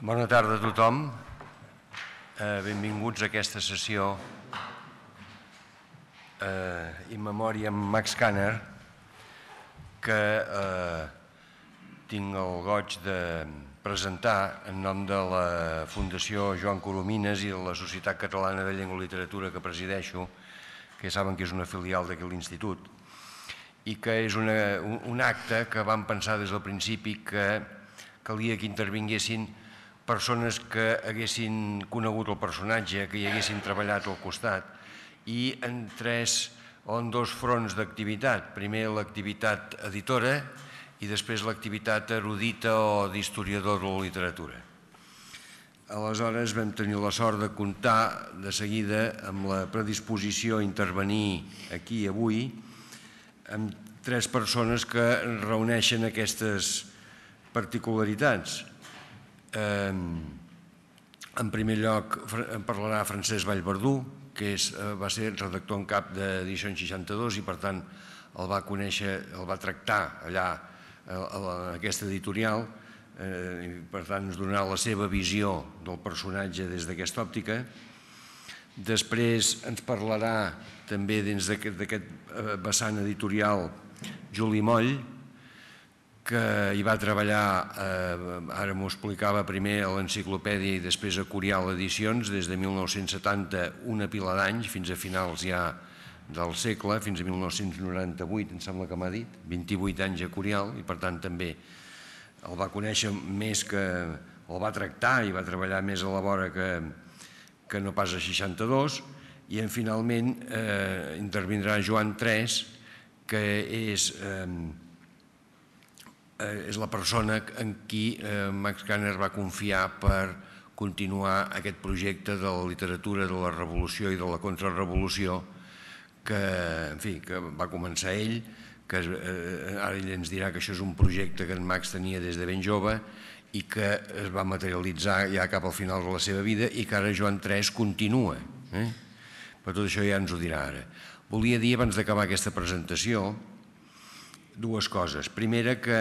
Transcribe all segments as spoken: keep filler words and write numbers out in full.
Bona tarda a tothom. Benvinguts a aquesta sessió in memòria amb Max Kanner, que tinc el goig de presentar en nom de la Fundació Joan Coromines i de la Societat Catalana de Llengua i Literatura que presideixo, que saben que és una filial d'aquest institut, i que és un acte que vam pensar des del principi que calia que intervinguessin persones que haguessin conegut el personatge, que hi haguessin treballat al costat, i en tres o en dos fronts d'activitat. Primer l'activitat editora i després l'activitat erudita o d'historiador de la literatura. Aleshores vam tenir la sort de comptar de seguida amb la predisposició a intervenir aquí avui amb tres persones que reuneixen aquestes particularitats. En primer lloc parlarà Francesc Vallverdú, que va ser redactor en cap d'Edicions seixanta-dos i per tant el va conèixer, el va tractar allà en aquesta editorial i per tant ens donarà la seva visió del personatge des d'aquesta òptica. Després ens parlarà també dins d'aquest vessant editorial Juli Moll, que hi va treballar, ara m'ho explicava, primer a l'Enciclopèdia i després a Curial Edicions, des de mil nou-cents setanta, una pila d'anys, fins a finals ja del segle, fins a mil nou-cents noranta-vuit, em sembla que m'ha dit, vint-i-vuit anys a Curial, i per tant també el va conèixer més que el va tractar i va treballar més a la vora que no pas a seixanta-dos, i finalment intervindrà Joan Tres, que és és la persona en qui Max Kanner va confiar per continuar aquest projecte de la literatura de la revolució i de la contrarrevolució que, en fi, que va començar ell, que ara ell ens dirà que això és un projecte que en Max tenia des de ben jove i que es va materialitzar ja cap al final de la seva vida i que ara Joan Tres continua. Per tot això ja ens ho dirà ara. Volia dir, abans d'acabar aquesta presentació, dues coses. Primera, que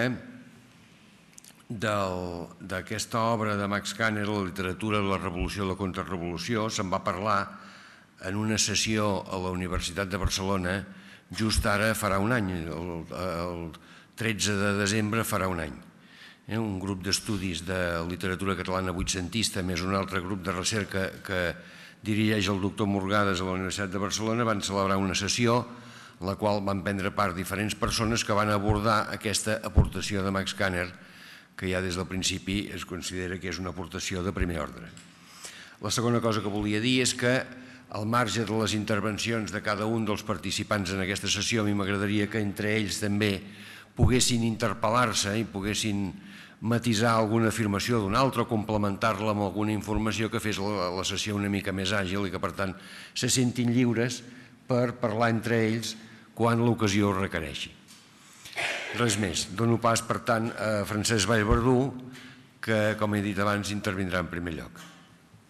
d'aquesta obra de Max Kanner, la literatura de la revolució i la contrarrevolució, se'n va parlar en una sessió a la Universitat de Barcelona just ara farà un any, el tretze de desembre farà un any. Un grup d'estudis de literatura catalana vuitcentista més un altre grup de recerca que dirigeix el doctor Morgades a la Universitat de Barcelona van celebrar una sessió en la qual van prendre part diferents persones que van abordar aquesta aportació de Max Kanner, que ja des del principi es considera que és una aportació de primer ordre. La segona cosa que volia dir és que, al marge de les intervencions de cada un dels participants en aquesta sessió, a mi m'agradaria que entre ells també poguessin interpel·lar-se i poguessin matisar alguna afirmació d'un altre o complementar-la amb alguna informació que fes la sessió una mica més àgil i que, per tant, se sentin lliures per parlar entre ells quan l'ocasió ho requereixi. Res més. Dono pas, per tant, a Francesc Vallverdú, que, com he dit abans, intervindrà en primer lloc.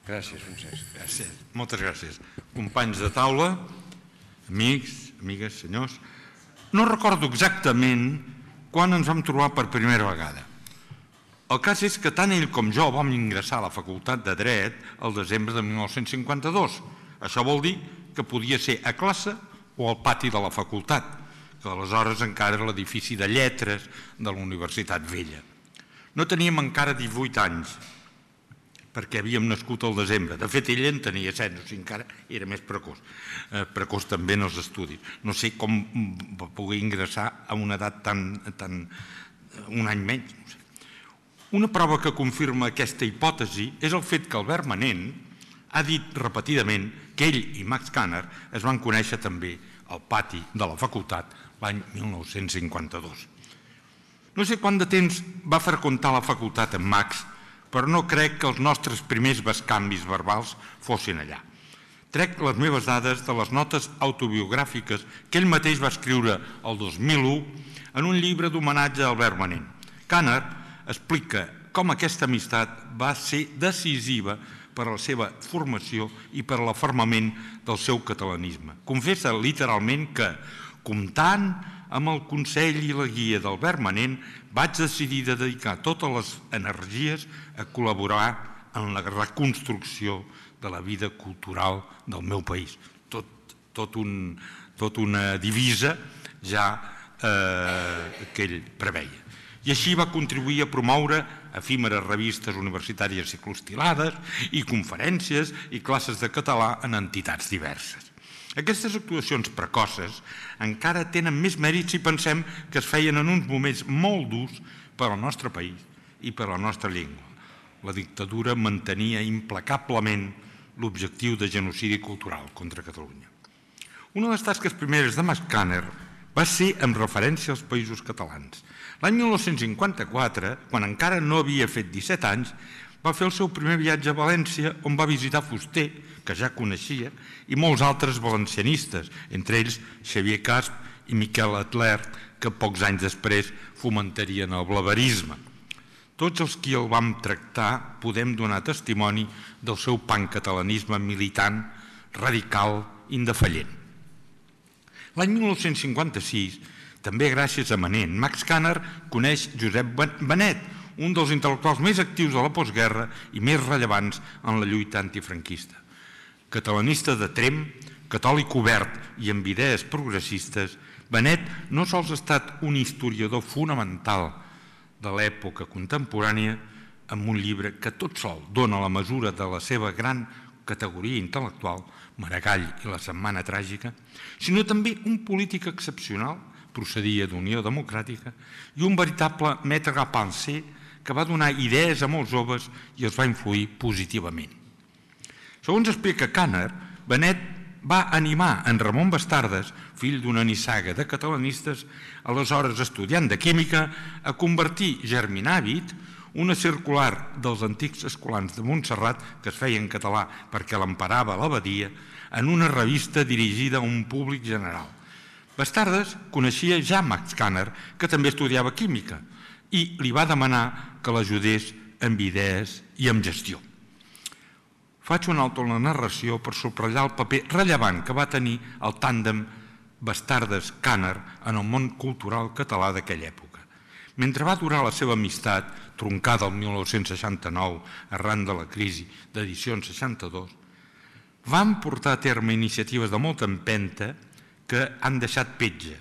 Gràcies, Francesc. Gràcies. Moltes gràcies. Companys de taula, amics, amigues, senyors, no recordo exactament quan ens vam trobar per primera vegada. El cas és que tant ell com jo vam ingressar a la Facultat de Dret el desembre de mil nou-cents cinquanta-dos. Això vol dir que podia ser a classe o al pati de la facultat, que aleshores encara era l'edifici de lletres de la Universitat Vella. No teníem encara divuit anys, perquè havíem nascut al desembre. De fet, ell en tenia set, o sigui, encara era més precoç. Precoç també en els estudis. No sé com va poder ingressar a una edat tan... un any menys. Una prova que confirma aquesta hipòtesi és el fet que Albert Manent ha dit repetidament que ell i Max Kanner es van conèixer també al pati de la facultat l'any mil nou-cents cinquanta-dos. No sé quant de temps va freqüentar la facultat en Max, però no crec que els nostres primers bescanvis verbals fossin allà. Trec les meves dades de les notes autobiogràfiques que ell mateix va escriure el dos mil u en un llibre d'homenatge a Albert Manent. Kanner explica com aquesta amistat va ser decisiva per a la seva formació i per a l'afermament del seu catalanisme. Confessa literalment que, comptant amb el consell i la guia d'Albert Manent, vaig decidir de dedicar totes les energies a col·laborar en la reconstrucció de la vida cultural del meu país. Tot, tot, un, tot una divisa ja eh, que ell preveia. I així va contribuir a promoure efímeres revistes universitàries ciclostilades i conferències i classes de català en entitats diverses. Aquestes actuacions precoces encara tenen més mèrit si pensem que es feien en uns moments molt durs per al nostre país i per a la nostra llengua. La dictadura mantenia implacablement l'objectiu de genocidi cultural contra Catalunya. Una de les tasques primeres de Max Kanner va ser amb referència als països catalans. L'any mil nou-cents cinquanta-quatre, quan encara no havia fet disset anys, va fer el seu primer viatge a València, on va visitar Fuster, que ja coneixia, i molts altres valencianistes, entre ells Xavier Casp i Miquel Atler, que pocs anys després fomentarien el blaverisme. Tots els qui el vam tractar podem donar testimoni del seu pancatalanisme militant, radical, indefallent. L'any mil nou-cents cinquanta-sis, també gràcies a Manent, Max Kanner coneix Josep Benet, un dels intel·lectuals més actius de la postguerra i més rellevants en la lluita antifranquista. Catalanista de Tremp, catòlic obert i amb idees progressistes, Benet no sols ha estat un historiador fonamental de l'època contemporània amb un llibre que tot sol dona la mesura de la seva gran categoria intel·lectual, Maragall i la Setmana Tràgica, sinó també un polític excepcional, procedia d'Unió Democràtica, i un veritable maître à penser que va donar idees a molts joves i els va influir positivament. Segons explica Kanner, Benet va animar en Ramon Bastardes, fill d'una nissaga de catalanistes, aleshores estudiant de química, a convertir Germinàvit, una circular dels antics escolans de Montserrat, que es feia en català perquè l'emparava l'abadia, en una revista dirigida a un públic general. Bastardes coneixia ja Max Kanner, que també estudiava química, i li va demanar que l'ajudés amb idees i amb gestió. Faig un alto en la narració per subratllar el paper rellevant que va tenir el tàndem Bastardes-Kanner en el món cultural català d'aquella època. Mentre va durar la seva amistat, troncada el mil nou-cents seixanta-nou arran de la crisi d'edicions seixanta-dos, van portar a terme iniciatives de molta empenta que han deixat petja.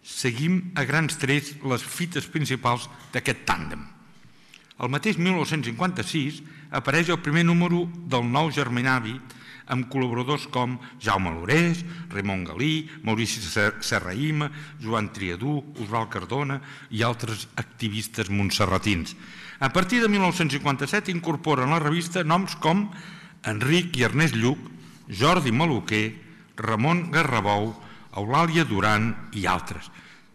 Seguim a grans trets les fites principals d'aquest tàndem. El mateix mil nou-cents cinquanta-sis apareix el primer número del Nou Germinàvit amb col·laboradors com Jaume Lorés, Raimon Galí, Maurici Serrahima, Joan Triadú, Osvald Cardona i altres activistes montserratins. A partir de mil nou-cents cinquanta-set incorporen a la revista noms com Enric i Ernest Lluc, Jordi Maluquer, Ramon Garrabou, Eulàlia Duran i altres.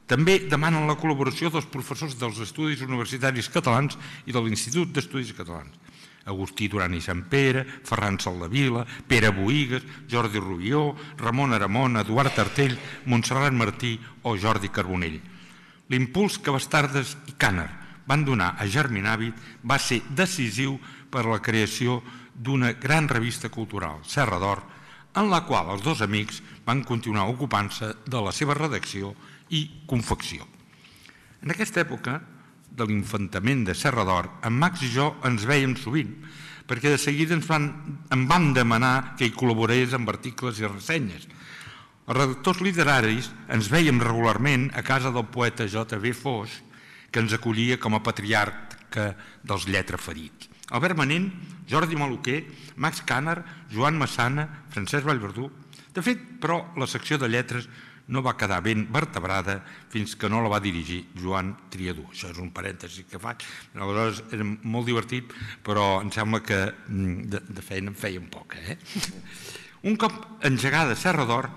També demanen la col·laboració dels professors dels Estudis Universitaris Catalans i de l'Institut d'Estudis Catalans. Agustí Duran i Sampere, Ferran Soldevila, Pere Boïgues, Jordi Rubió, Ramon Aramon, Eduard Tartell, Montserrat Martí o Jordi Carbonell. L'impuls que Bastardes i Kanner van donar a Germinàvit va ser decisiu per a la creació d'una gran revista cultural, Serra d'Or, en la qual els dos amics van continuar ocupant-se de la seva redacció i confecció. En aquesta època de l'infantament de Serra d'Or, en Max i jo ens vèiem sovint, perquè de seguida ens van, em van demanar que hi col·laborés amb articles i ressenyes. Els redactors literaris ens vèiem regularment a casa del poeta J V Foix, que ens acollia com a patriarca dels lletraferits. Albert Manent, Jordi Maluquer, Max Kanner, Joan Massana, Francesc Vallverdú. De fet, però, la secció de lletres no va quedar ben vertebrada fins que no la va dirigir Joan Triadú. Això és un parèntesi que faig. Aleshores era molt divertit, però em sembla que de, de feina em feia un poc. Eh? Un cop engegada Serra d'Or,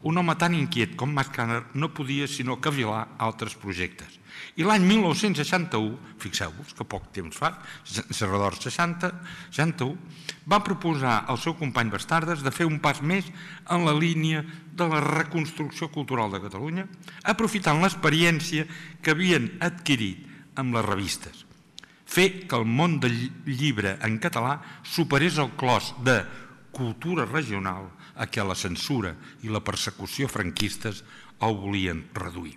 un home tan inquiet com Max Kanner no podia sinó cavilar altres projectes. I l'any mil nou-cents seixanta-u, fixeu-vos que poc temps fa, Serra d'Or seixanta, seixanta-u, va proposar al seu company Bastardes de fer un pas més en la línia de la reconstrucció cultural de Catalunya, aprofitant l'experiència que havien adquirit amb les revistes. Fer que el món del llibre en català superés el clos de cultura regional a què la censura i la persecució franquistes el volien reduir.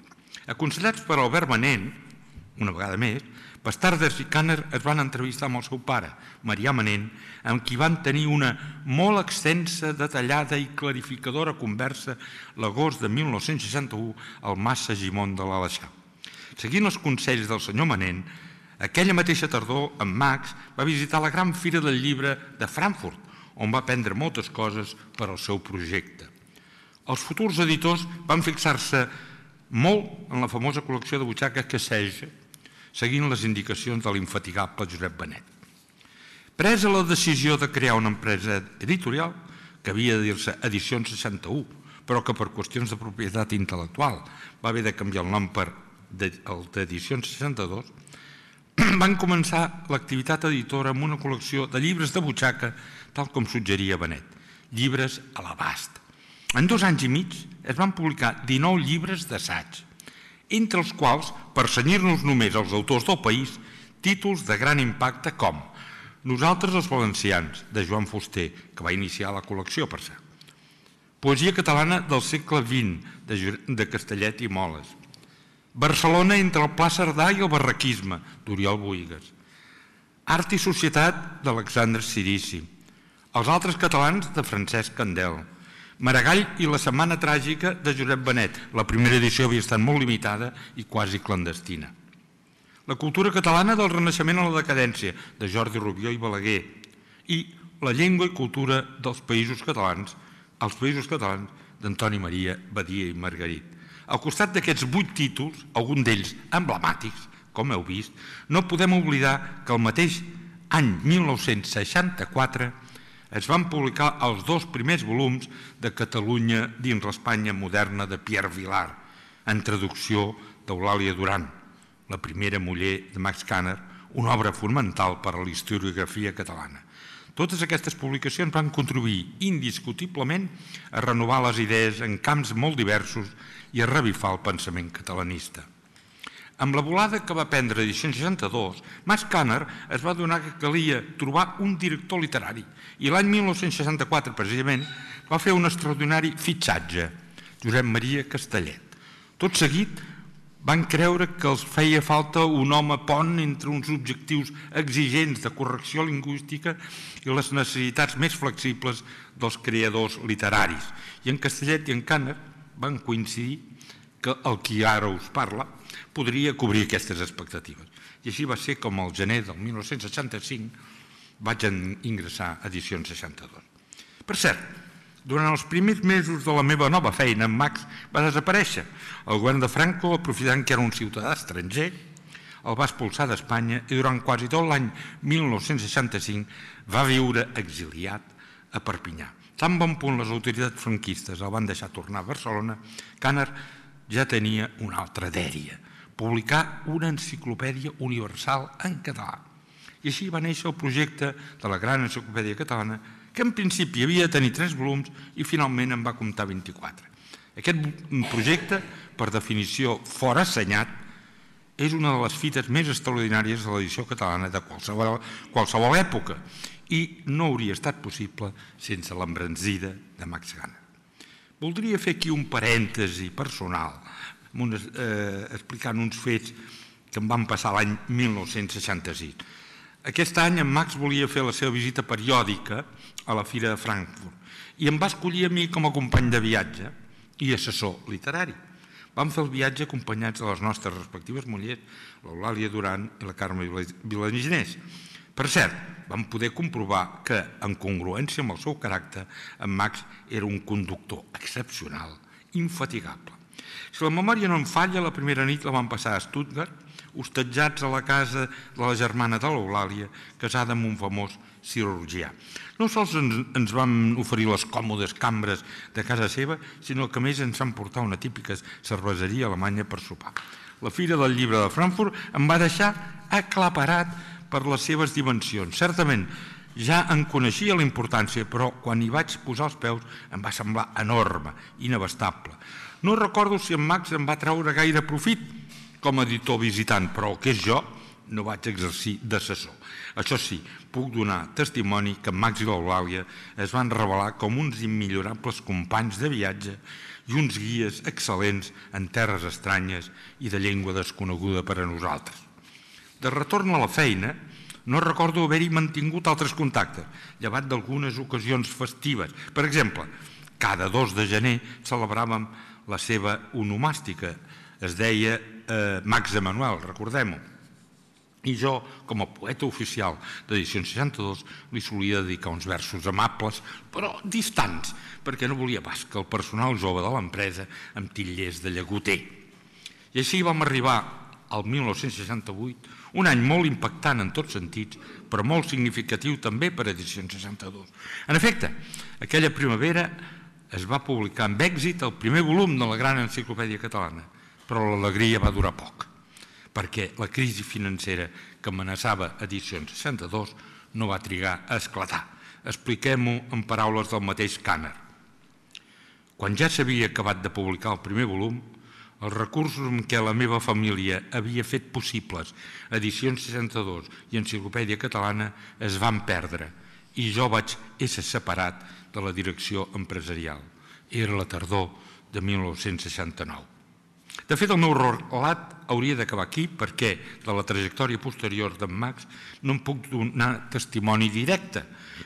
Aconsellats per Albert Manent, una vegada més, Bastardes i Kanner es van entrevistar amb el seu pare, Marià Manent, amb qui van tenir una molt extensa, detallada i clarificadora conversa l'agost de mil nou-cents seixanta-u al Mas Segimon de l'Aleixar. Seguint els consells del senyor Manent, aquella mateixa tardor, en Max va visitar la gran fira del llibre de Frankfurt, on va aprendre moltes coses per al seu projecte. Els futurs editors van fixar-se molt en la famosa col·lecció de butxaques que Sage, seguint les indicacions de l'infatigable Josep Benet. Presa la decisió de crear una empresa editorial, que havia de dir-se Edicions seixanta-u, però que per qüestions de propietat intel·lectual va haver de canviar el nom per el d'Edicions seixanta-dos, van començar l'activitat editora amb una col·lecció de llibres de butxaca, tal com suggeria Benet, llibres a l'abast. En dos anys i mig es van publicar dinou llibres d'assaig, entre els quals, per cenyir-nos només als autors del país, títols de gran impacte com Nosaltres els valencians, de Joan Fuster, que va iniciar la col·lecció, per cert. Poesia catalana del segle vint, de Castellet i Moles. Barcelona entre el Pla Cerdà i el barraquisme, d'Oriol Bohigas. Art i societat, d'Alexandre Cirici. Els altres catalans, de Francesc Candel. Maragall i la setmana tràgica, de Josep Benet. La primera edició havia estat molt limitada i quasi clandestina. La cultura catalana del Renaixement a la decadència, de Jordi Rubió i Balaguer. I la llengua i cultura dels països catalans, els països catalans, d'Antoni Maria, Badia i Margarit. Al costat d'aquests vuit títols, alguns d'ells emblemàtics, com heu vist, no podem oblidar que el mateix any mil nou-cents seixanta-quatre es van publicar els dos primers volums de Catalunya dins l'Espanya moderna de Pierre Vilar, en traducció d'Eulàlia Duran, la primera muller de Max Kanner, una obra fonamental per a la historiografia catalana. Totes aquestes publicacions van contribuir indiscutiblement a renovar les idees en camps molt diversos i a revifar el pensament catalanista. Amb la volada que va prendre Edicions seixanta-dos, Max Kanner es va adonar que calia trobar un director literari i l'any mil nou-cents seixanta-quatre, precisament, va fer un extraordinari fitxatge, Josep Maria Castellet. Tot seguit, van creure que els feia falta un home pont entre uns objectius exigents de correcció lingüística i les necessitats més flexibles dels creadors literaris. I en Castellet i en Kanner van coincidir que el qui ara us parla podria cobrir aquestes expectatives. I així va ser com al gener del mil nou-cents seixanta-cinc vaig ingressar a Edicions seixanta-dos. Per cert, durant els primers mesos de la meva nova feina, en Max va desaparèixer. El govern de Franco, aprofitant que era un ciutadà estranger, el va expulsar d'Espanya i durant quasi tot l'any mil nou-cents seixanta-cinc va viure exiliat a Perpinyà. Tan bon punt les autoritats franquistes el van deixar tornar a Barcelona, Kanner ja tenia una altra dèria, publicar una enciclopèdia universal en català. I així va néixer el projecte de la gran enciclopèdia catalana, que en principi havia de tenir tres volums i finalment en va comptar vint-i-quatre. Aquest projecte, per definició forassenyat, és una de les fites més extraordinàries de l'edició catalana de qualsevol, qualsevol època i no hauria estat possible sense l'embranzida de Max Kanner. Voldria fer aquí un parèntesi personal, unes, eh, explicant uns fets que em van passar l'any mil nou-cents seixanta-sis. Aquest any en Max volia fer la seva visita periòdica a la Fira de Frankfurt i em va escollir a mi com a company de viatge i assessor literari. Vam fer el viatge acompanyats de les nostres respectives mullers, l'Eulàlia Duran i la Carme Vilaginés. Per cert, vam poder comprovar que, en congruència amb el seu caràcter, en Max era un conductor excepcional, infatigable. Si la memòria no em falla, la primera nit la vam passar a Stuttgart, hostatjats a la casa de la germana de l'Eulàlia, casada amb un famós cirurgià. No sols ens van oferir les còmodes cambres de casa seva, sinó que a més ens van portar una típica cerveseria alemanya per sopar. La Fira del Llibre de Frankfurt em va deixar aclaparat per les seves dimensions. Certament, ja en coneixia la importància, però quan hi vaig posar els peus em va semblar enorme, inabastable. No recordo si en Max em va treure gaire profit com a editor visitant, però el que és jo no vaig exercir d'assessor. Això sí, puc donar testimoni que en Max i l'Eulàlia es van revelar com uns immillorables companys de viatge i uns guies excel·lents en terres estranyes i de llengua desconeguda per a nosaltres. De retorn a la feina, no recordo haver-hi mantingut altres contactes, llevat d'algunes ocasions festives. Per exemple, cada dos de gener celebràvem la seva onomàstica. Es deia eh, Max Emanuel, recordem-ho. I jo, com a poeta oficial d'Edicions seixanta-dos, li solia dedicar uns versos amables, però distants, perquè no volia pas que el personal jove de l'empresa em titllés de llagoter. I així vam arribar al mil nou-cents seixanta-vuit, un any molt impactant en tots sentits, però molt significatiu també per a Edicions seixanta-dos. En efecte, aquella primavera es va publicar amb èxit el primer volum de la gran enciclopèdia catalana, però l'alegria va durar poc, perquè la crisi financera que amenaçava Edicions seixanta-dos no va trigar a esclatar. Expliquem-ho en paraules del mateix Kanner. Quan ja s'havia acabat de publicar el primer volum, els recursos amb què la meva família havia fet possibles Edicions seixanta-dos i Enciclopèdia Catalana es van perdre i jo vaig ésser separat de la direcció empresarial. Era la tardor de mil nou-cents seixanta-nou. De fet, el meu relat hauria d'acabar aquí perquè de la trajectòria posterior d'en Max no em puc donar testimoni directe.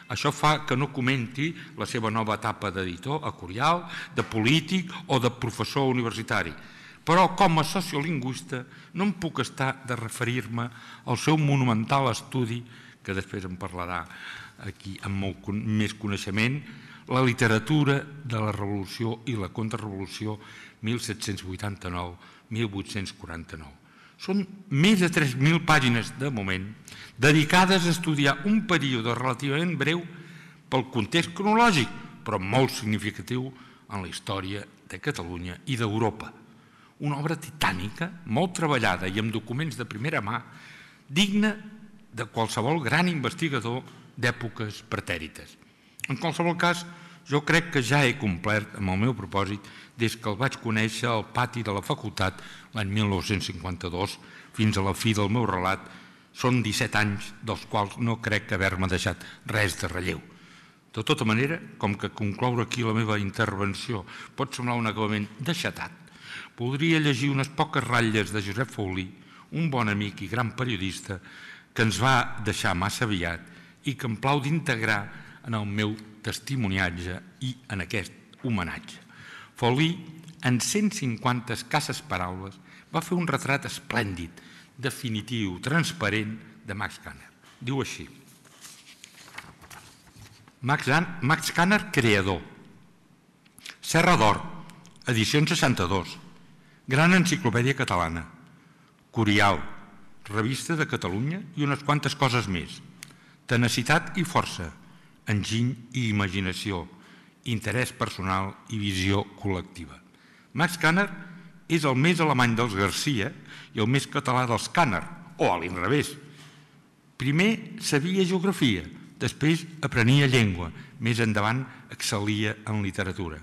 Això fa que no comenti la seva nova etapa d'editor a Curial, de polític o de professor universitari. Però com a sociolingüista no em puc estar de referir-me al seu monumental estudi, que després em parlarà aquí amb molt més coneixement, la literatura de la Revolució i la Contrarrevolució mil set-cents vuitanta-nou a mil vuit-cents quaranta-nou. Són més de tres mil pàgines de moment dedicades a estudiar un període relativament breu pel context cronològic, però molt significatiu en la història de Catalunya i d'Europa. Una obra titànica, molt treballada i amb documents de primera mà, digna de qualsevol gran investigador d'èpoques pretèrites. En qualsevol cas, jo crec que ja he complert amb el meu propòsit des que el vaig conèixer al pati de la facultat l'any mil nou-cents cinquanta-dos fins a la fi del meu relat. Són disset anys dels quals no crec haver-me deixat res de relleu. De tota manera, com que concloure aquí la meva intervenció pot semblar un acabament deixatat, podria llegir unes poques ratlles de Josep Faulí, un bon amic i gran periodista que ens va deixar massa aviat i que em plau d'integrar en el meu testimoniatge i en aquest homenatge. Faulí, en cent cinquanta escasses paraules, va fer un retrat esplèndid, definitiu, transparent de Max Kanner. Diu així: Max Kanner, creador. Serra d'Or, Edicions seixanta-dos. Gran Enciclopèdia Catalana, Curial, Revista de Catalunya i unes quantes coses més. Tenacitat i força, enginy i imaginació, interès personal i visió col·lectiva. Max Kanner és el més alemany dels Garcia i el més català dels Kanner, o a l'inrevés. Primer sabia geografia, després aprenia llengua, més endavant excel·lia en literatura.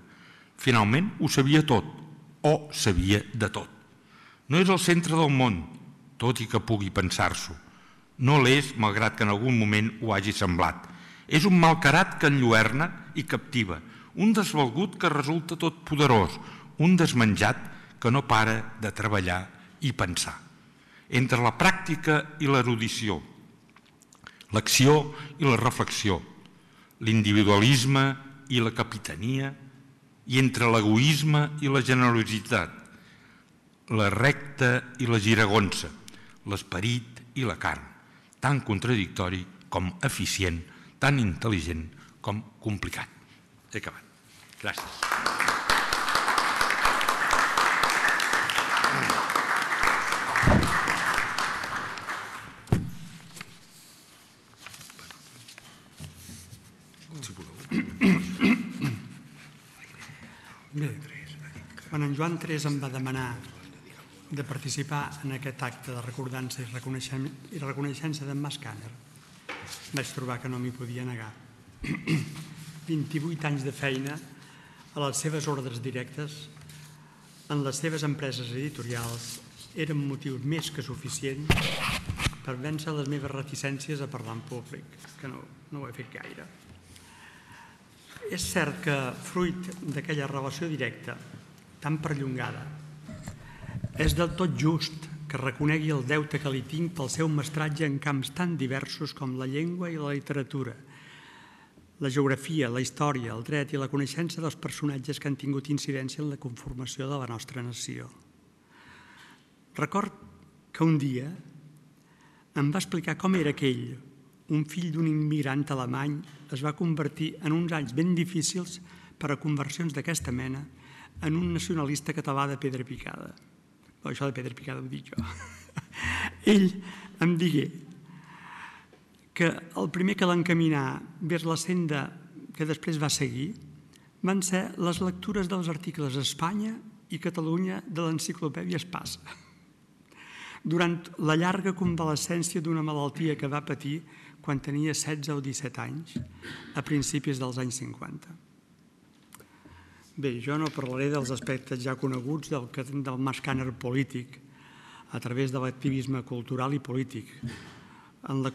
Finalment ho sabia tot, o sabia de tot. No és el centre del món, tot i que pugui pensar-s'ho. No l'és, malgrat que en algun moment ho hagi semblat. És un malcarat que enlluerna i captiva, un desvalgut que resulta tot poderós, un desmenjat que no para de treballar i pensar. Entre la pràctica i l'erudició, l'acció i la reflexió, l'individualisme i la capitania, i entre l'egoisme i la generositat, la recta i la giragonsa, l'esperit i la carn, tan contradictori com eficient, tan intel·ligent com complicat. He acabat. Gràcies. Bé, quan en Joan tres em va demanar de participar en aquest acte de recordança i reconeixença d'en Max Kanner, vaig trobar que no m'hi podia negar. vint-i-vuit anys de feina a les seves ordres directes, en les seves empreses editorials, eren motiu més que suficient per vèncer les meves reticències a parlar en públic, que no, no ho he fet gaire. És cert que, fruit d'aquella relació directa tan perllongada. És del tot just que reconegui el deute que li tinc pel seu mestratge en camps tan diversos com la llengua i la literatura, la geografia, la història, el dret i la coneixença dels personatges que han tingut incidència en la conformació de la nostra nació. Record que un dia em va explicar com era que ell, un fill d'un immigrant alemany, es va convertir en uns anys ben difícils per a conversions d'aquesta mena en un nacionalista català de pedra picada. Però això de pedra picada ho dic jo. Ell em digué que el primer que l'encaminà vers la senda que després va seguir van ser les lectures dels articles Espanya i Catalunya de l'enciclopèdia Espasa, durant la llarga convalescència d'una malaltia que va patir quan tenia setze o disset anys, a principis dels anys cinquanta. Bé, jo no parlaré dels aspectes ja coneguts del, del mascàner polític a través de l'activisme cultural i polític, amb la,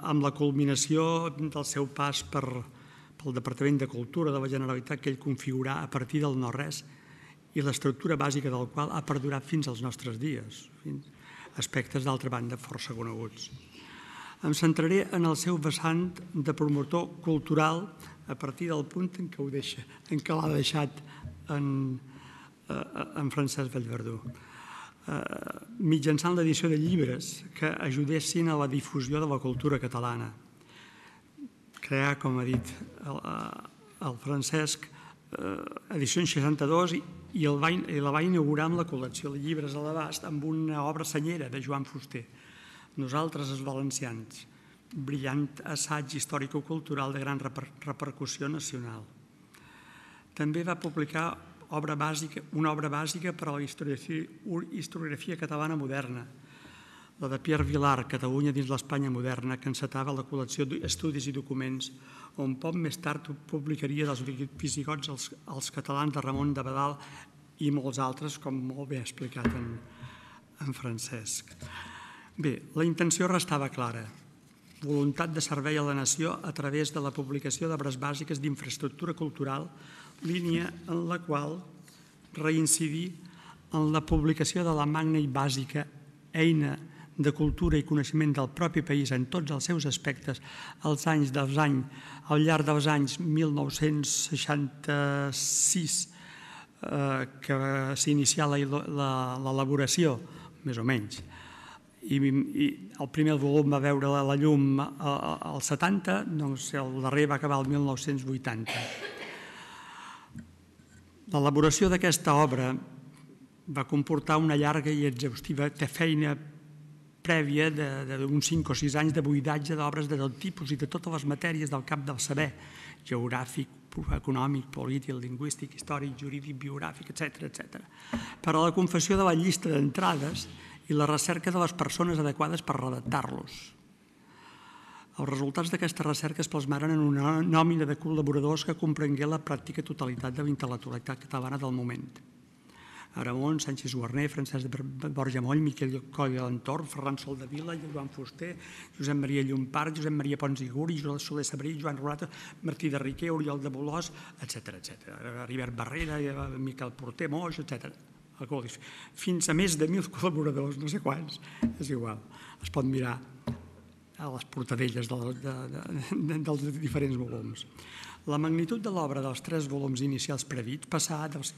amb la culminació del seu pas per, pel Departament de Cultura de la Generalitat que ell configurà a partir del no-res i l'estructura bàsica del qual ha perdurat fins als nostres dies, aspectes d'altra banda força coneguts. Em centraré en el seu vessant de promotor cultural a partir del punt en què ho deixa, en què l'ha deixat en, en Francesc Vallverdú, mitjançant l'edició de llibres que ajudessin a la difusió de la cultura catalana. Crear, com ha dit el, el Francesc, edicions seixanta-dos i el va, la va inaugurar amb la col·lecció de llibres a l'abast amb una obra senyera de Joan Fuster, Nosaltres els valencians, brillant assaig històrico-cultural de gran repercussió nacional. També va publicar obra bàsica, una obra bàsica per a la historiografia catalana moderna, la de Pierre Vilar, Catalunya dins l'Espanya moderna, que encetava la col·lecció d'estudis i documents, on poc més tard publicaria dels visigots als, als catalans de Ramon de Badal i molts altres, com molt bé ha explicat en, en Francesc. Bé, la intenció restava clara. Voluntat de servei a la nació a través de la publicació d'obres bàsiques d'infraestructura cultural, línia en la qual reincidir en la publicació de la magna i bàsica eina de cultura i coneixement del propi país en tots els seus aspectes als anys dels anys, al llarg dels anys mil nou-cents seixanta-sis, eh, que s'inicià l'elaboració, més o menys, i, i el primer volum va veure la, la llum al setanta, doncs el darrer va acabar el mil nou-cents vuitanta. L'elaboració d'aquesta obra va comportar una llarga i exhaustiva feina prèvia d'uns cinc o sis anys de buidatge d'obres de tot tipus i de totes les matèries del camp del saber, geogràfic, econòmic, polític, lingüístic, històric, jurídic, biogràfic, etcètera, etcètera, per a la confecció de la llista d'entrades i la recerca de les persones adequades per redactar-los. Els resultats d'aquesta recerca es plasmaren en una nòmina de col·laboradors que comprengué la pràctica totalitat de la intel·lectualitat catalana del moment. Aramon, Sánchez Guarner, Francesc de Borja Moll, Miquel Coll i l'entorn, Ferran Soldevila, Joan Fuster, Josep Maria Llompart, Josep Maria Pons i Guri, Soler Sabrí, Joan Rolata, Martí de Riquer, Oriol de Bolòs, etcètera, etcètera. Ribert Barrera, Miquel Porter, Moix, etcètera. Fins a més de mil col·laboradors, no sé quants, és igual. Es pot mirar a les portadelles dels diferents volums. La magnitud de l'obra dels tres volums inicials predits passà dels,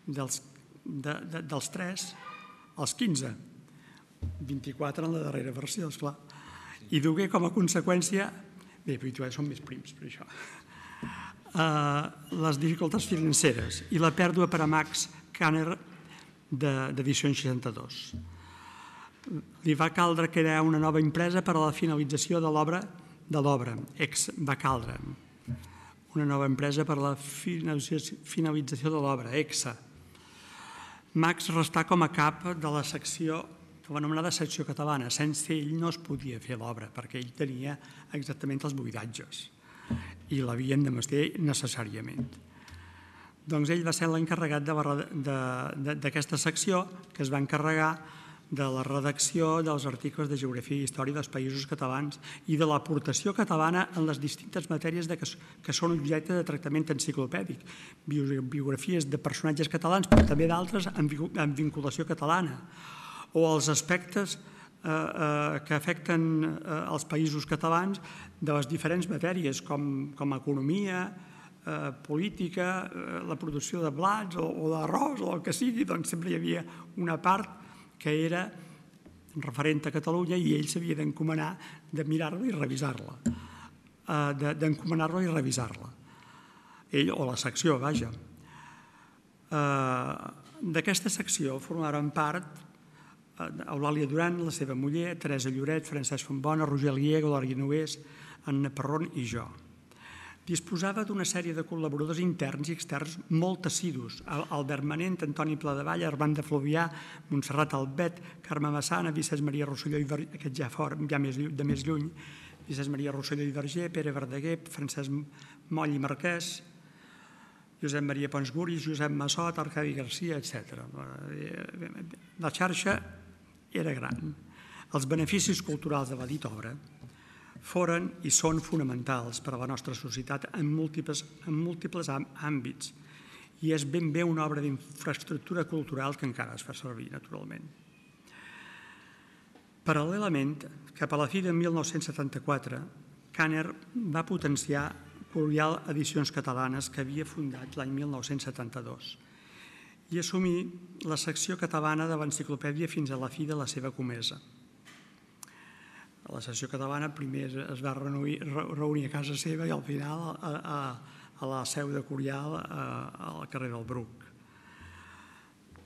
dels, de, de, dels tres als quinze, vint-i-quatre en la darrera versió, esclar, i dugué com a conseqüència, bé, però són més prims per això, uh, les dificultats financeres i la pèrdua per a Max Kanner d'edicions seixanta-dos. Li va caldre crear una nova empresa per a la finalització de l'obra, de l'obra, ex va caldre, una nova empresa per a la finalització de l'obra, EXA. Max restà com a cap de la secció, de l'anomenada secció catalana. Sense ell no es podia fer l'obra, perquè ell tenia exactament els buidatges i l'havien de mestir necessàriament. Doncs ell va ser l'encarregat d'aquesta secció, que es va encarregar de la redacció dels articles de geografia i història dels països catalans i de l'aportació catalana en les distintes matèries que són objecte de tractament enciclopèdic. Biografies de personatges catalans, però també d'altres amb vinculació catalana. O els aspectes que afecten els països catalans de les diferents matèries, com economia, política, la producció de blats o d'arròs o el que sigui, doncs sempre hi havia una part que era referent a Catalunya i ell s'havia d'encomanar de mirar-la i revisar-la, d'encomanar-la i revisar-la. Ell o la secció, vaja. D'aquesta secció formaven part Eulàlia Duran, la seva muller, Teresa Lloret, Francesc Fontbona, Roger Alier, Glòria Nogués, Anna Perron i jo. Disposava d'una sèrie de col·laboradors interns i externs molt assidus. Albert Manent, Antoni Pladevall, Armand de Fluvià, Montserrat Albet, Carme Massana, Vicenç Maria Rosselló, aquest ja fora, ja de més lluny, Vicenç Maria Rosselló i Verger, Pere Verdaguer, Francesc Moll i Marquès, Josep Maria Pons Guris, Josep Massot, Arcadi Garcia, etcètera. La xarxa era gran. Els beneficis culturals de la dita obra foren i són fonamentals per a la nostra societat en múltiples àmbits i és ben bé una obra d'infraestructura cultural que encara es fa servir, naturalment. Paral·lelament, cap a la fi de mil nou-cents setanta-quatre, Kanner va potenciar Curial Edicions Catalanes, que havia fundat l'any mil nou-cents setanta-dos, i assumir la secció catalana de l'enciclopèdia fins a la fi de la seva comesa. La secció catalana primer es va reunir a casa seva i al final a la seu de Curial al carrer del Bruc.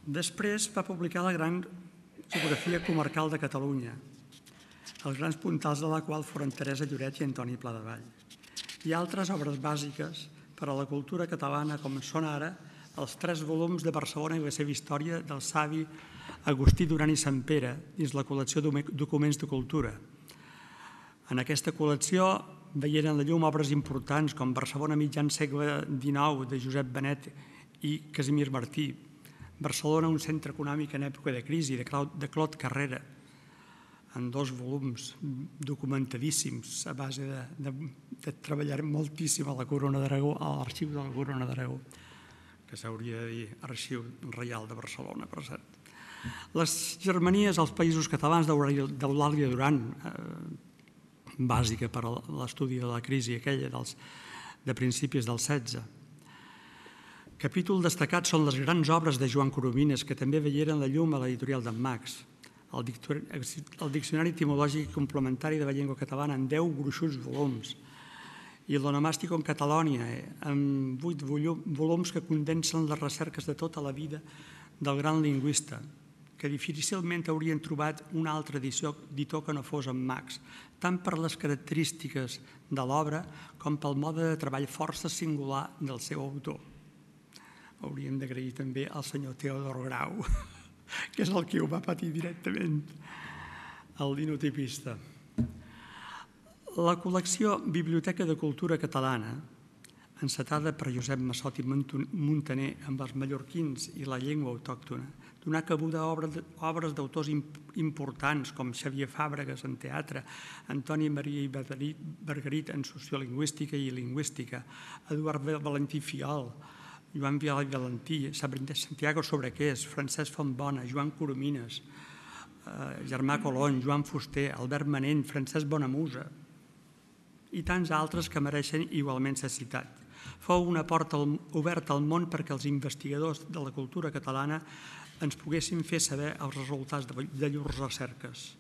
Després va publicar la gran geografia comarcal de Catalunya, els grans puntals de la qual foren Teresa Lloret i Antoni Pladevall, i altres obres bàsiques per a la cultura catalana com són ara els tres volums de Barcelona i la seva història del savi Agustí Duran i Santpere dins la col·lecció Documents de Cultura. En aquesta col·lecció veieren la llum obres importants com Barcelona mitjan segle dinou de Josep Benet i Casimir Martí, Barcelona un centre econòmic en època de crisi de Claude Carrera, en dos volums documentadíssims a base de treballar moltíssim a la Corona d'Aragó, a l'arxiu de la Corona d'Aragó, que s'hauria de dir Arxiu Reial de Barcelona, per cert. Les germanies als països catalans d'Eulàlia Duran, bàsica per a l'estudi de la crisi aquella de principis del setze. Capítol destacat són les grans obres de Joan Coromines, que també veieren la llum a l'editorial d'en Max, el Diccionari Etimològic Complementari de la Llengua Catalana en deu gruixuts volums i l'Onomàstico en Catalònia, en vuit volums que condensen les recerques de tota la vida del gran lingüista, que difícilment haurien trobat una altra editor que no fos en Max, tant per les característiques de l'obra com pel mode de treball força singular del seu autor. Hauríem d'agrair també al senyor Teodor Grau, que és el que ho va patir directament, el linotipista. La col·lecció Biblioteca de Cultura Catalana, encetada per Josep Massot i Muntaner amb els mallorquins i la llengua autòctona, donà cabuda a obres d'autors importants com Xavier Fàbregas en teatre, Antoni Maria i Margarit en sociolingüística i lingüística, Eduard Valentí Fiol, Joan Vial i Valentí, Santiago Sobrequés, Francesc Fontbona, Joan Coromines, Germà Colón, Joan Fuster, Albert Manent, Francesc Bonamusa i tants altres que mereixen igualment ser citats. Fou una porta oberta al món perquè els investigadors de la cultura catalana ens poguessin fer saber els resultats de llurs recerques.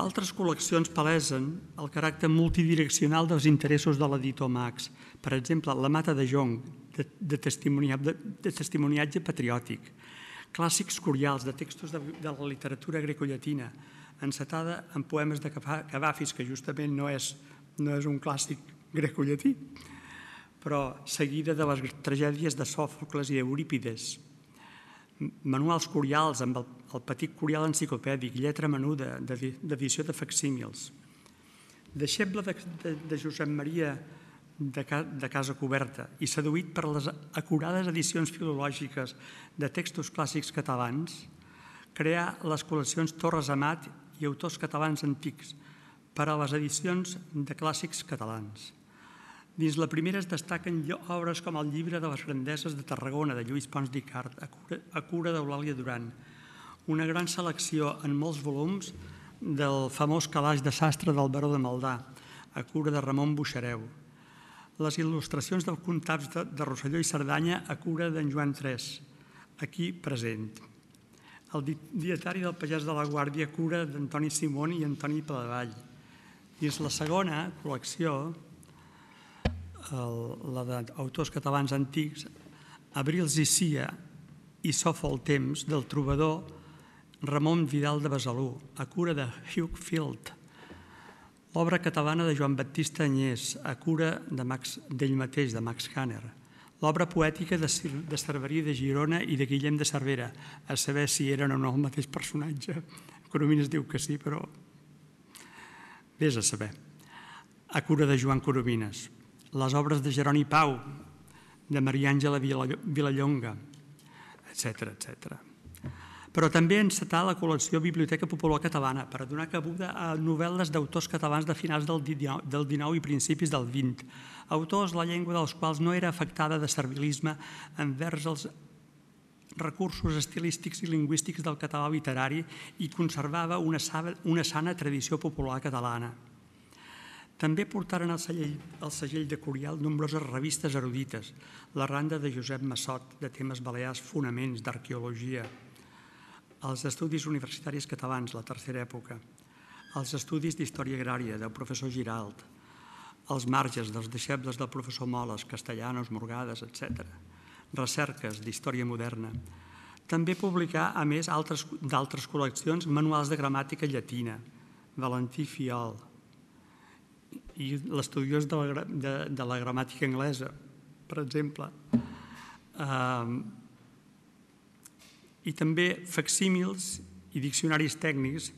Altres col·leccions palesen el caràcter multidireccional dels interessos de l'editor Max. Per exemple, La Mata de Jonc, de testimoniatge patriòtic, clàssics curials de textos de la literatura grecollatina, encetada en poemes de Cavafis, que justament no és un clàssic grecollatí, però seguida de les tragèdies de Sòfocles i d'Eurípides, manuals curials amb el petit curial enciclopèdic, lletra menuda, d'edició de facsímils. Deixeble de Josep Maria de Casa Coberta i seduït per les acurades edicions filològiques de textos clàssics catalans, crear les col·leccions Torres Amat i Autors Catalans Antics per a les edicions de clàssics catalans. Dins la primera es destaquen obres com el Llibre de les Grandeses de Tarragona, de Lluís Pons d'Icart, a cura d'Eulàlia Duran, una gran selecció en molts volums del famós calaix de sastre del Baró de Maldà, a cura de Ramon Buxareu, les il·lustracions dels comtats de Rosselló i Cerdanya, a cura d'en Joan Tres, aquí present, el dietari del Pagès de la Guàrdia, a cura d'Antoni Simón i Antoni Palavall. Dins la segona col·lecció, la d'autors catalans antics, Abrils i Cia i Sofa el temps, del trobador Ramon Vidal de Besalú, a cura de Hugh Field. L'obra catalana de Joan Baptista Agnès, a cura d'ell mateix, de Max Kanner. L'obra poètica de Cerverí de Girona i de Guillem de Cervera, a saber si eren o no el mateix personatge. Coromines diu que sí, però vés a saber. A cura de Joan Coromines. Les obres de Jeroni Pau, de Maria Àngela Vilallonga, etcètera, etcètera. Però també encetar la col·lecció Biblioteca Popular Catalana per a donar cabuda a novel·les d'autors catalans de finals del dinou i principis del vint, autors la llengua dels quals no era afectada de servilisme envers els recursos estilístics i lingüístics del català literari i conservava una sana tradició popular catalana. També portaren al segell de Curial nombroses revistes erudites, la Randa de Josep Massot, de temes balears, fonaments, d'arqueologia, els Estudis Universitaris Catalans, la tercera època, els Estudis d'Història Agrària, del professor Giralt, els Marges, dels deixebles del professor Moles, Castellanos, Morgades, etcètera, recerques d'història moderna. També publicà, a més d'altres col·leccions, manuals de gramàtica llatina, Valentí Fiol, i l'estudiós de la gramàtica anglesa, per exemple. I també facsímils i diccionaris tècnics,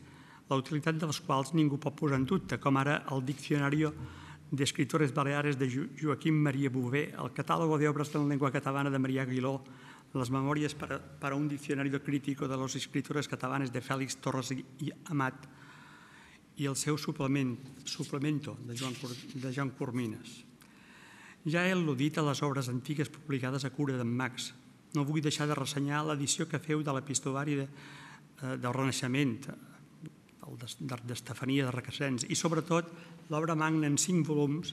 la utilitat dels quals ningú pot posar en dubte, com ara el Diccionario de Escritores Baleares de Joaquim Maria Bové, el Catàlogo de Obras de la Lengua Catalana de María Aguiló, les Memòries per a un Diccionario Crítico de los Escritores Catalanes de Fèlix Torres i Amat i el seu suplemento de Joan Coromines. Ja he al·ludit a les obres antigues publicades a cura d'en Max. No vull deixar de ressenyar l'edició que feu de l'epistolari del Renaixement, d'Estefania de Requesens, i sobretot l'obra magna en cinc volums,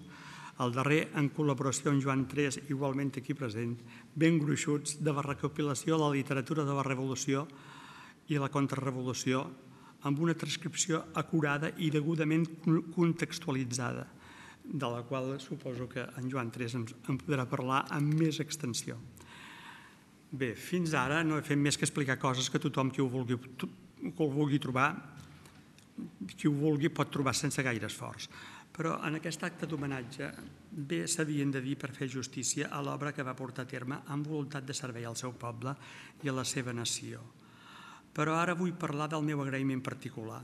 el darrer en col·laboració amb Joan Tres, igualment aquí present, ben gruixuts, de la recopilació de la literatura de la Revolució i la Contrarrevolució, amb una transcripció acurada i degudament contextualitzada, de la qual suposo que en Joan Tres en podrà parlar amb més extensió. Bé, fins ara no he fet més que explicar coses que tothom qui ho vulgui trobar, qui ho vulgui pot trobar sense gaire esforç. Però en aquest acte d'homenatge bé s'havien de dir per fer justícia a l'obra que va portar a terme amb voluntat de servei al seu poble i a la seva nació. Però ara vull parlar del meu agraïment particular.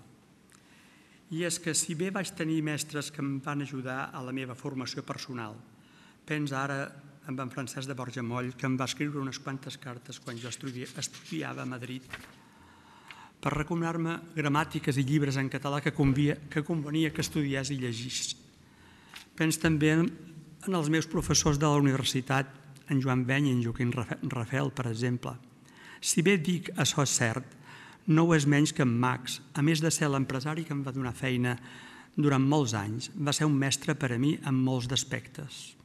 I és que si bé vaig tenir mestres que em van ajudar a la meva formació personal, pensa ara amb en Francesc de Borja Moll, que em va escriure unes quantes cartes quan jo estudiava a Madrid per recomanar-me gramàtiques i llibres en català que convenia que estudiés i llegís. Penso també en els meus professors de la universitat, en Joan Beny i en Joaquim Rafel, per exemple. Si bé dic això és cert, no ho és menys que en Max, a més de ser l'empresari que em va donar feina durant molts anys, va ser un mestre per a mi en molts d'aspectes.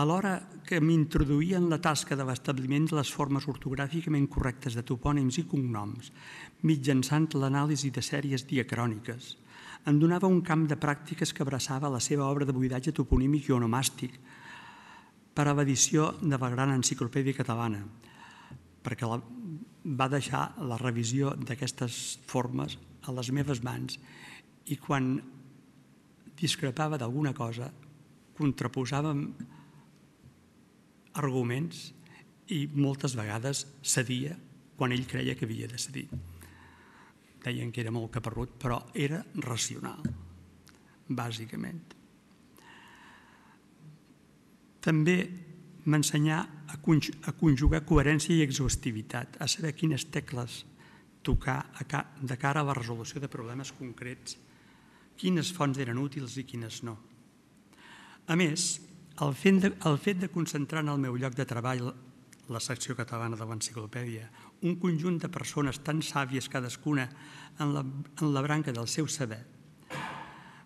Alhora que m'introduïa en la tasca de l'establiment de les formes ortogràficament correctes de topònims i cognoms, mitjançant l'anàlisi de sèries diacròniques, em donava un camp de pràctiques que abraçava la seva obra de buidatge toponímic i onomàstic per a l'edició de la gran enciclopèdia catalana, perquè va deixar la revisió d'aquestes formes a les meves mans i quan discrepava d'alguna cosa contraposàvem arguments i moltes vegades cedia quan ell creia que havia de cedir. Deien que era molt caparrut, però era racional, bàsicament. També m'ensenyà a conjugar coherència i exhaustivitat, a saber quines tecles tocar de cara a la resolució de problemes concrets quines fonts eren útils i quines no. A més, el fet de, el fet de concentrar en el meu lloc de treball, la secció catalana de l'enciclopèdia, un conjunt de persones tan sàvies cadascuna en la, en la branca del seu saber,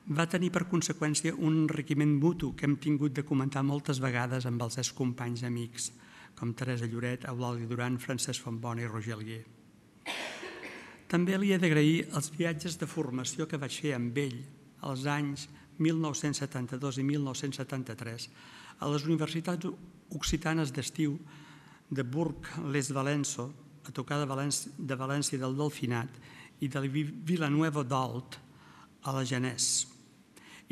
va tenir per conseqüència un enriquiment mutu que hem tingut de comentar moltes vegades amb els excompanys amics, com Teresa Lloret, Eulàlia Duran, Francesc Fontbona i Roger Alier. També li he d'agrair els viatges de formació que vaig fer amb ell als anys mil nou-cents setanta-dos i mil nou-cents setanta-tres a les universitats occitanes d'estiu de Bourg-les-Valenço, a tocar de València, de València del Delfinat i de Villanueva d'Olt a la Genès.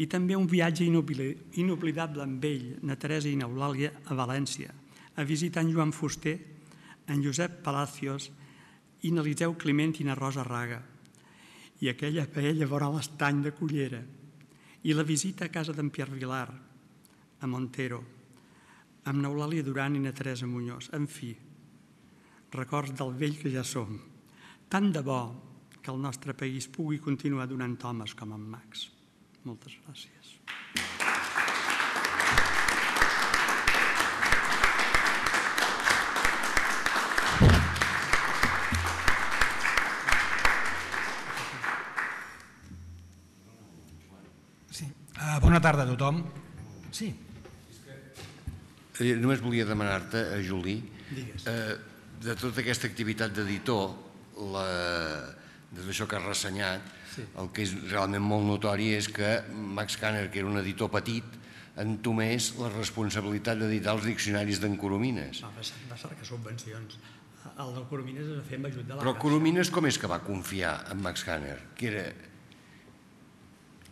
I també un viatge inoblidable amb ell, na Teresa i n'Eulàlia, a València, a visitar en Joan Fuster, en Josep Palacios i n'Eliseu Climent i na Rosa Raga, i aquella paella vora l'estany de Cullera, i la visita a casa d'en Pierre Vilar, a Montero, amb n'Eulàlia Duran i na Teresa Muñoz. En fi, records del vell que ja som. Tant de bo que el nostre país pugui continuar donant homes com en Max. Moltes gràcies. Sí. Uh, bona tarda a tothom. Sí. Eh, només volia demanar-te, a Juli, Digues. eh, de tota aquesta activitat d'editor, la, de tot això que has ressenyat, Sí. el que és realment molt notori és que Max Kanner, que era un editor petit, entomés la responsabilitat d'editar els diccionaris d'en Coromines. Va, va cercar subvencions. El del Coromines es va fer amb ajut de la Però Caixa. Coromines com és que va confiar en Max Kanner? Que era...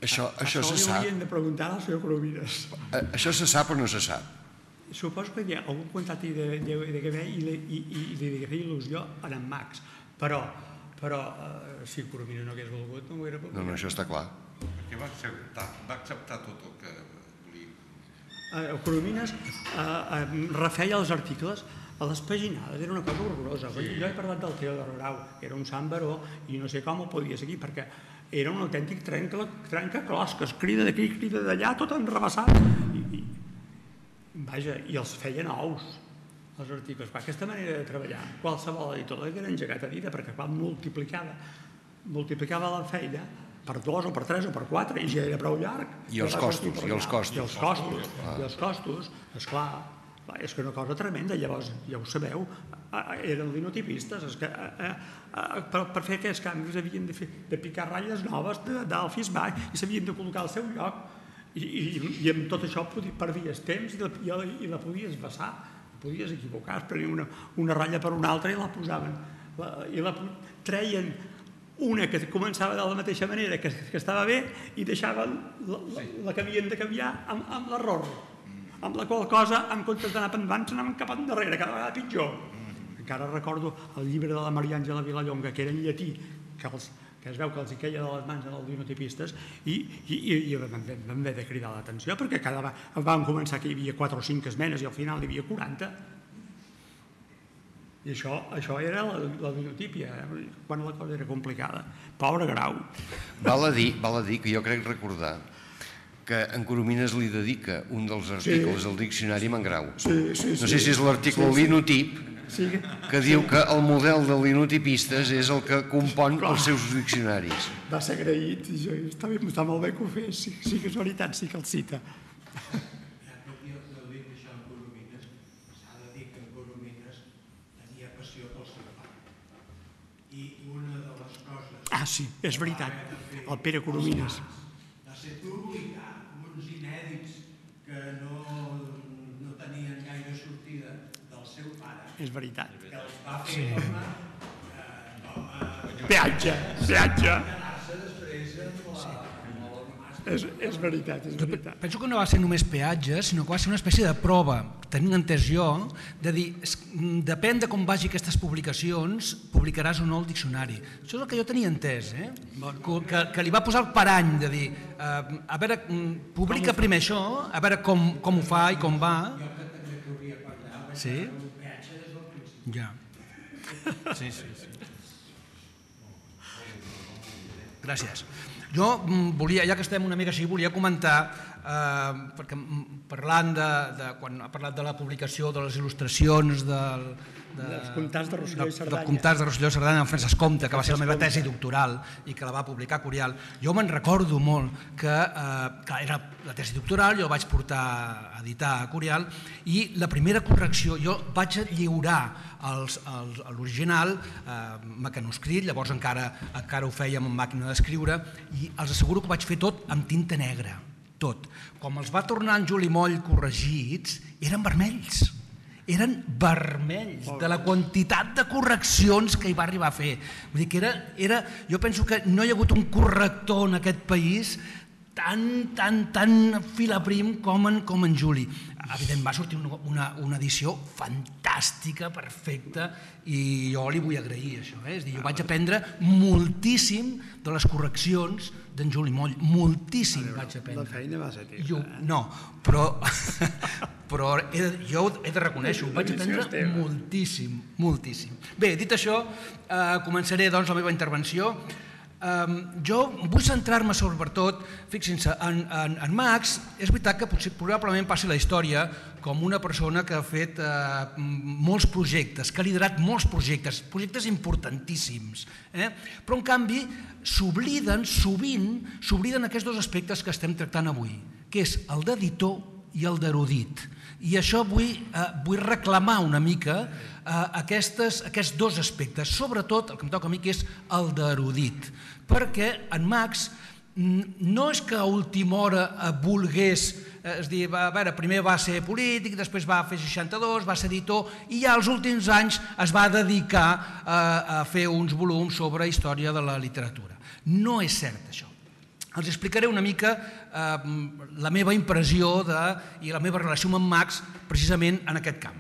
Això, això, Això se li sap. haurien de preguntar al senyor Coromines. Eh, Això se sap o no se sap? Suposo que hi ha algun contacte de, de, de, de, i, li, i, i li de fer il·lusió a en Max, però, però eh, si Coromines no hagués volgut, no ho hauria volgut. No, no, això està clar. Perquè va acceptar, va acceptar tot el que volia. El Coromines eh, eh, refeia els articles a les paginades, era una cosa horrorosa. Sí. Jo he parlat del Teodor Grau, era un sant baró i no sé com ho podia seguir, perquè era un autèntic trenca, trencaclosques, crida d'aquí, crida d'allà, tot enrebaçat. I, i, vaja, i els feien nous, els articles. Aquesta manera de treballar, qualsevol editor l'hagués engegat a vida, perquè quan multiplicava, multiplicava la feina per dos o per tres o per quatre, i ja era prou llarg. I els costos, i els costos. I els costos, i els costos, esclar, és que una cosa tremenda. Llavors, ja ho sabeu, eren linotipistes, és que per, per fer aquests canvis havien de, fer, de picar ratlles noves d'alfis baix i s'havien de col·locar al seu lloc. I, i, i amb tot això perdies temps i la, i la, i la podies vessar, podies equivocar, es prenia una, una ratlla per una altra i la posaven, la, i la treien una que començava de la mateixa manera, que, que estava bé, i deixaven la, la, la que havien de canviar amb, amb l'error, amb la qual cosa, en comptes d'anar endavant, s'anaven cap endarrere, cada vegada pitjor. Encara recordo el llibre de la Maria Àngela Vilallonga, que era en llatí, que els que es veu que els hi queia de les mans als linotipistes, i, i, i vam haver de cridar l'atenció, perquè cada vegada van començar que hi havia quatre o cinc esmenes i al final hi havia quaranta. I això, això era la, la linotípia, eh? Quan la cosa era complicada. Pobre Grau. Val a dir, val a dir que jo crec recordar que en Coromines li dedica un dels articles del diccionari a en Grau. Sí, sí, sí. No sé si és l'article Sí, sí. linotip, Sí. que diu que el model de linotipistes és el que compon els seus diccionaris. Va ser agraït, i jo, està, bé, està molt bé que ho fes, sí, sí que és veritat, sí que el cita. Ja que jo heu dit això en Coromines, s'ha de dir que en Coromines tenia passió pel seu pare. I una de les coses... Ah, sí, és veritat, el Pere Coromines. Va ser publicar uns inèdits que no, no tenien gaire sortida del seu pare. És veritat. Que els va fer com a... Eh, com a... Peatge, peatge. quedar-se després amb la... És, és veritat, és veritat. Penso que no va ser només peatge, sinó que va ser una espècie de prova, tenint entès jo, de dir, es- depèn de com vagi aquestes publicacions, publicaràs o no el diccionari. Això és el que jo tenia entès, eh? que, que li va posar el parany de dir, eh, a veure, mm, publica primer això, a veure com, com ho fa i com va. Sí? Ja. Sí, sí, sí. Gràcies. Jo volia, ja que estem una mica així, volia comentar, perquè parlant de, quan ha parlat de la publicació de les il·lustracions del... dels comtats de Rosselló i Cerdanya. Dels comtats de Rosselló i Cerdanya amb Francesc Comte, que va ser la meva tesi doctoral i que la va publicar Curial. Jo me'n recordo molt que era la tesi doctoral, jo la vaig portar a editar a Curial i la primera correcció, jo vaig lliurar l'original mecanoscrit, llavors encara ho fèiem amb màquina d'escriure i els asseguro que ho vaig fer tot amb tinta negra, tot. Quan me'ls va tornar en Juli Moll corregits, eren vermells. Eren vermells de la quantitat de correccions que hi va arribar a fer. Vull dir que era... Jo penso que no hi ha hagut un corrector en aquest país tan, tan, tan filaprim com en Juli. Evidentment va sortir una edició fantàstica, perfecta, i jo li vull agrair això. És a dir, jo vaig aprendre moltíssim de les correccions d'en Juli Moll, moltíssim vaig aprendre. La feina va ser teva. No, però... però jo he de reconèixer, ho vaig aprendre moltíssim, moltíssim. Bé, dit això, començaré doncs la meva intervenció. Jo vull centrar-me sobretot, fixin-se, en Max, és veritat que probablement passi la història com una persona que ha fet molts projectes, que ha liderat molts projectes, projectes importantíssims, però en canvi s'obliden, sovint, s'obliden aquests dos aspectes que estem tractant avui, que és el d'editor i el d'erudit. I això vull reclamar una mica aquests dos aspectes, sobretot el que em toca a mi, que és el d'erudit, perquè en Max no és que a última hora volgués, és a dir, a veure, primer va ser polític, després va fer seixanta-dos, va ser editor, i ja als últims anys es va dedicar a fer uns volums sobre història de la literatura. No és cert, això. Els explicaré una mica la meva impressió i la meva relació amb en Max precisament en aquest camp.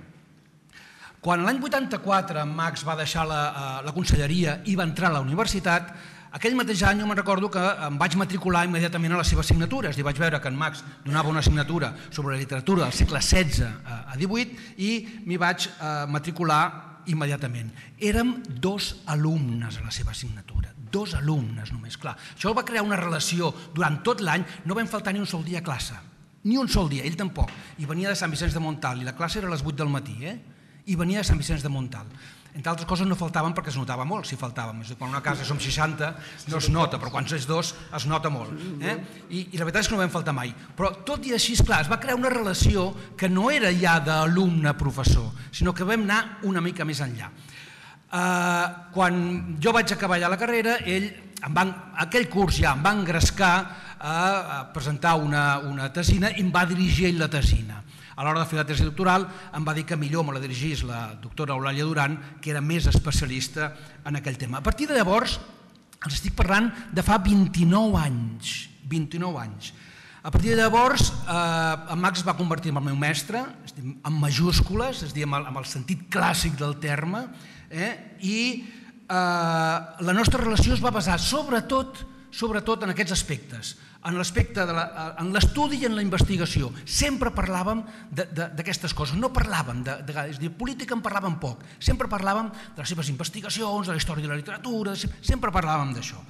Quan l'any vuitanta-quatre en Max va deixar la conselleria i va entrar a la universitat, aquell mateix any jo me'n recordo que em vaig matricular immediatament a la seva assignatura, és a dir, vaig veure que en Max donava una assignatura sobre la literatura del segle setze a divuit i m'hi vaig matricular immediatament. Érem dos alumnes a la seva assignatura. Dos alumnes només, clar. Això va crear una relació durant tot l'any, no vam faltar ni un sol dia a classe, ni un sol dia, ell tampoc. I venia de Sant Vicenç de Montalt, i la classe era a les vuit del matí, eh? I venia de Sant Vicenç de Montalt. Entre altres coses no faltaven perquè es notava molt, si faltàvem. Quan una casa som seixanta no es nota, però quan és dos es nota molt. I la veritat és que no vam faltar mai. Però tot i així, esclar, es va crear una relació que no era ja d'alumne-professor, sinó que vam anar una mica més enllà. Quan jo vaig acabar ja la carrera, ell, aquell curs ja em va engrescar a presentar una tesina i em va dirigir ell la tesina. A l'hora de fer la tesi doctoral em va dir que millor me la dirigís la doctora Eulàlia Duran, que era més especialista en aquell tema. A partir de llavors, els estic parlant de fa vint-i-nou anys, vint-i-nou anys. A partir de llavors, en Max es va convertir en el meu mestre, en majúscules, és a dir, amb el sentit clàssic del terme, i la nostra relació es va basar sobretot sobretot en aquests aspectes, en l'aspecte de l'estudi i en la investigació. Sempre parlàvem d'aquestes coses, no parlàvem de... És a dir, política en parlàvem poc, sempre parlàvem de les seves investigacions, de la història de la literatura, sempre parlàvem d'això.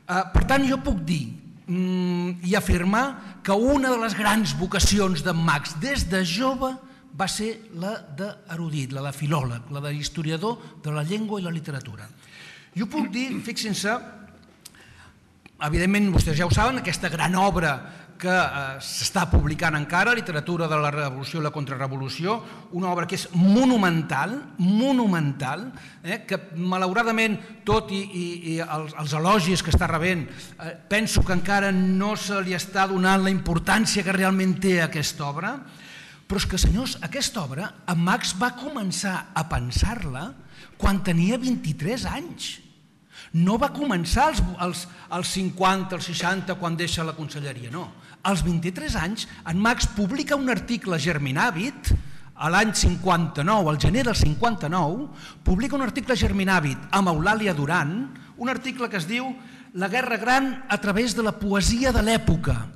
Per tant, jo puc dir i afirmar que una de les grans vocacions d'en Max des de jove va ser la d'erudit, la de filòleg, la d'historiador de la llengua i la literatura. Jo puc dir, fixin-se, evidentment, vostès ja ho saben, aquesta gran obra que s'està publicant encara, Literatura de la Revolució i la Contrarrevolució, una obra que és monumental, monumental, que malauradament, tot i els elogis que està rebent, penso que encara no se li està donant la importància que realment té aquesta obra, però és que, senyors, aquesta obra, en Max va començar a pensar-la quan tenia vint-i-tres anys. No va començar als cinquanta, als seixanta, quan deixa la conselleria, no. Als vint-i-tres anys, en Max publica un article a Germinàvit, a l'any cinquanta-nou, al gener del cinquanta-nou, publica un article a Germinàvit amb Eulàlia Duran, un article que es diu La guerra gran a través de la poesia de l'època.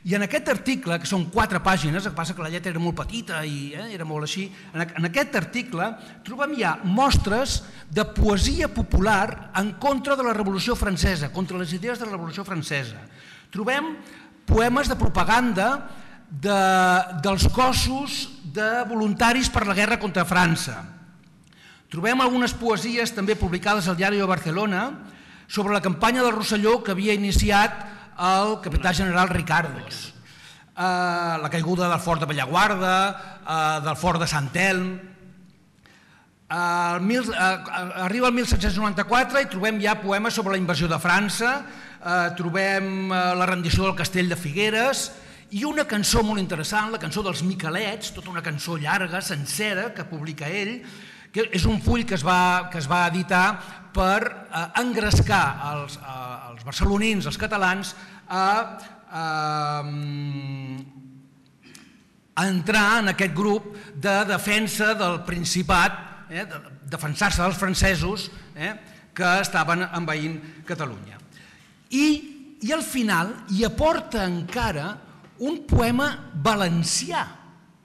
I en aquest article, que són quatre pàgines, el que passa que la lletra era molt petita i era molt així, en aquest article trobem ja mostres de poesia popular en contra de la Revolució Francesa, contra les idees de la Revolució Francesa. Trobem poemes de propaganda dels cossos de voluntaris per la guerra contra França. Trobem algunes poesies també publicades al Diari de Barcelona sobre la campanya del Rosselló que havia iniciat el capità general Ricardos, la caiguda del fort de Bellaguarda, del fort de Sant Elm. Arriba el mil set-cents noranta-quatre i trobem ja poemes sobre la invasió de França, trobem la rendició del castell de Figueres i una cançó molt interessant, la cançó dels Miquelets, tota una cançó llarga, sencera, que publica ell, que és un full que es va, que es va editar per eh, engrescar els, eh, els barcelonins, els catalans, a, a, a entrar en aquest grup de defensa del Principat, eh, de defensar-se dels francesos eh, que estaven envaint Catalunya. I, i al final hi aporta encara un poema valencià.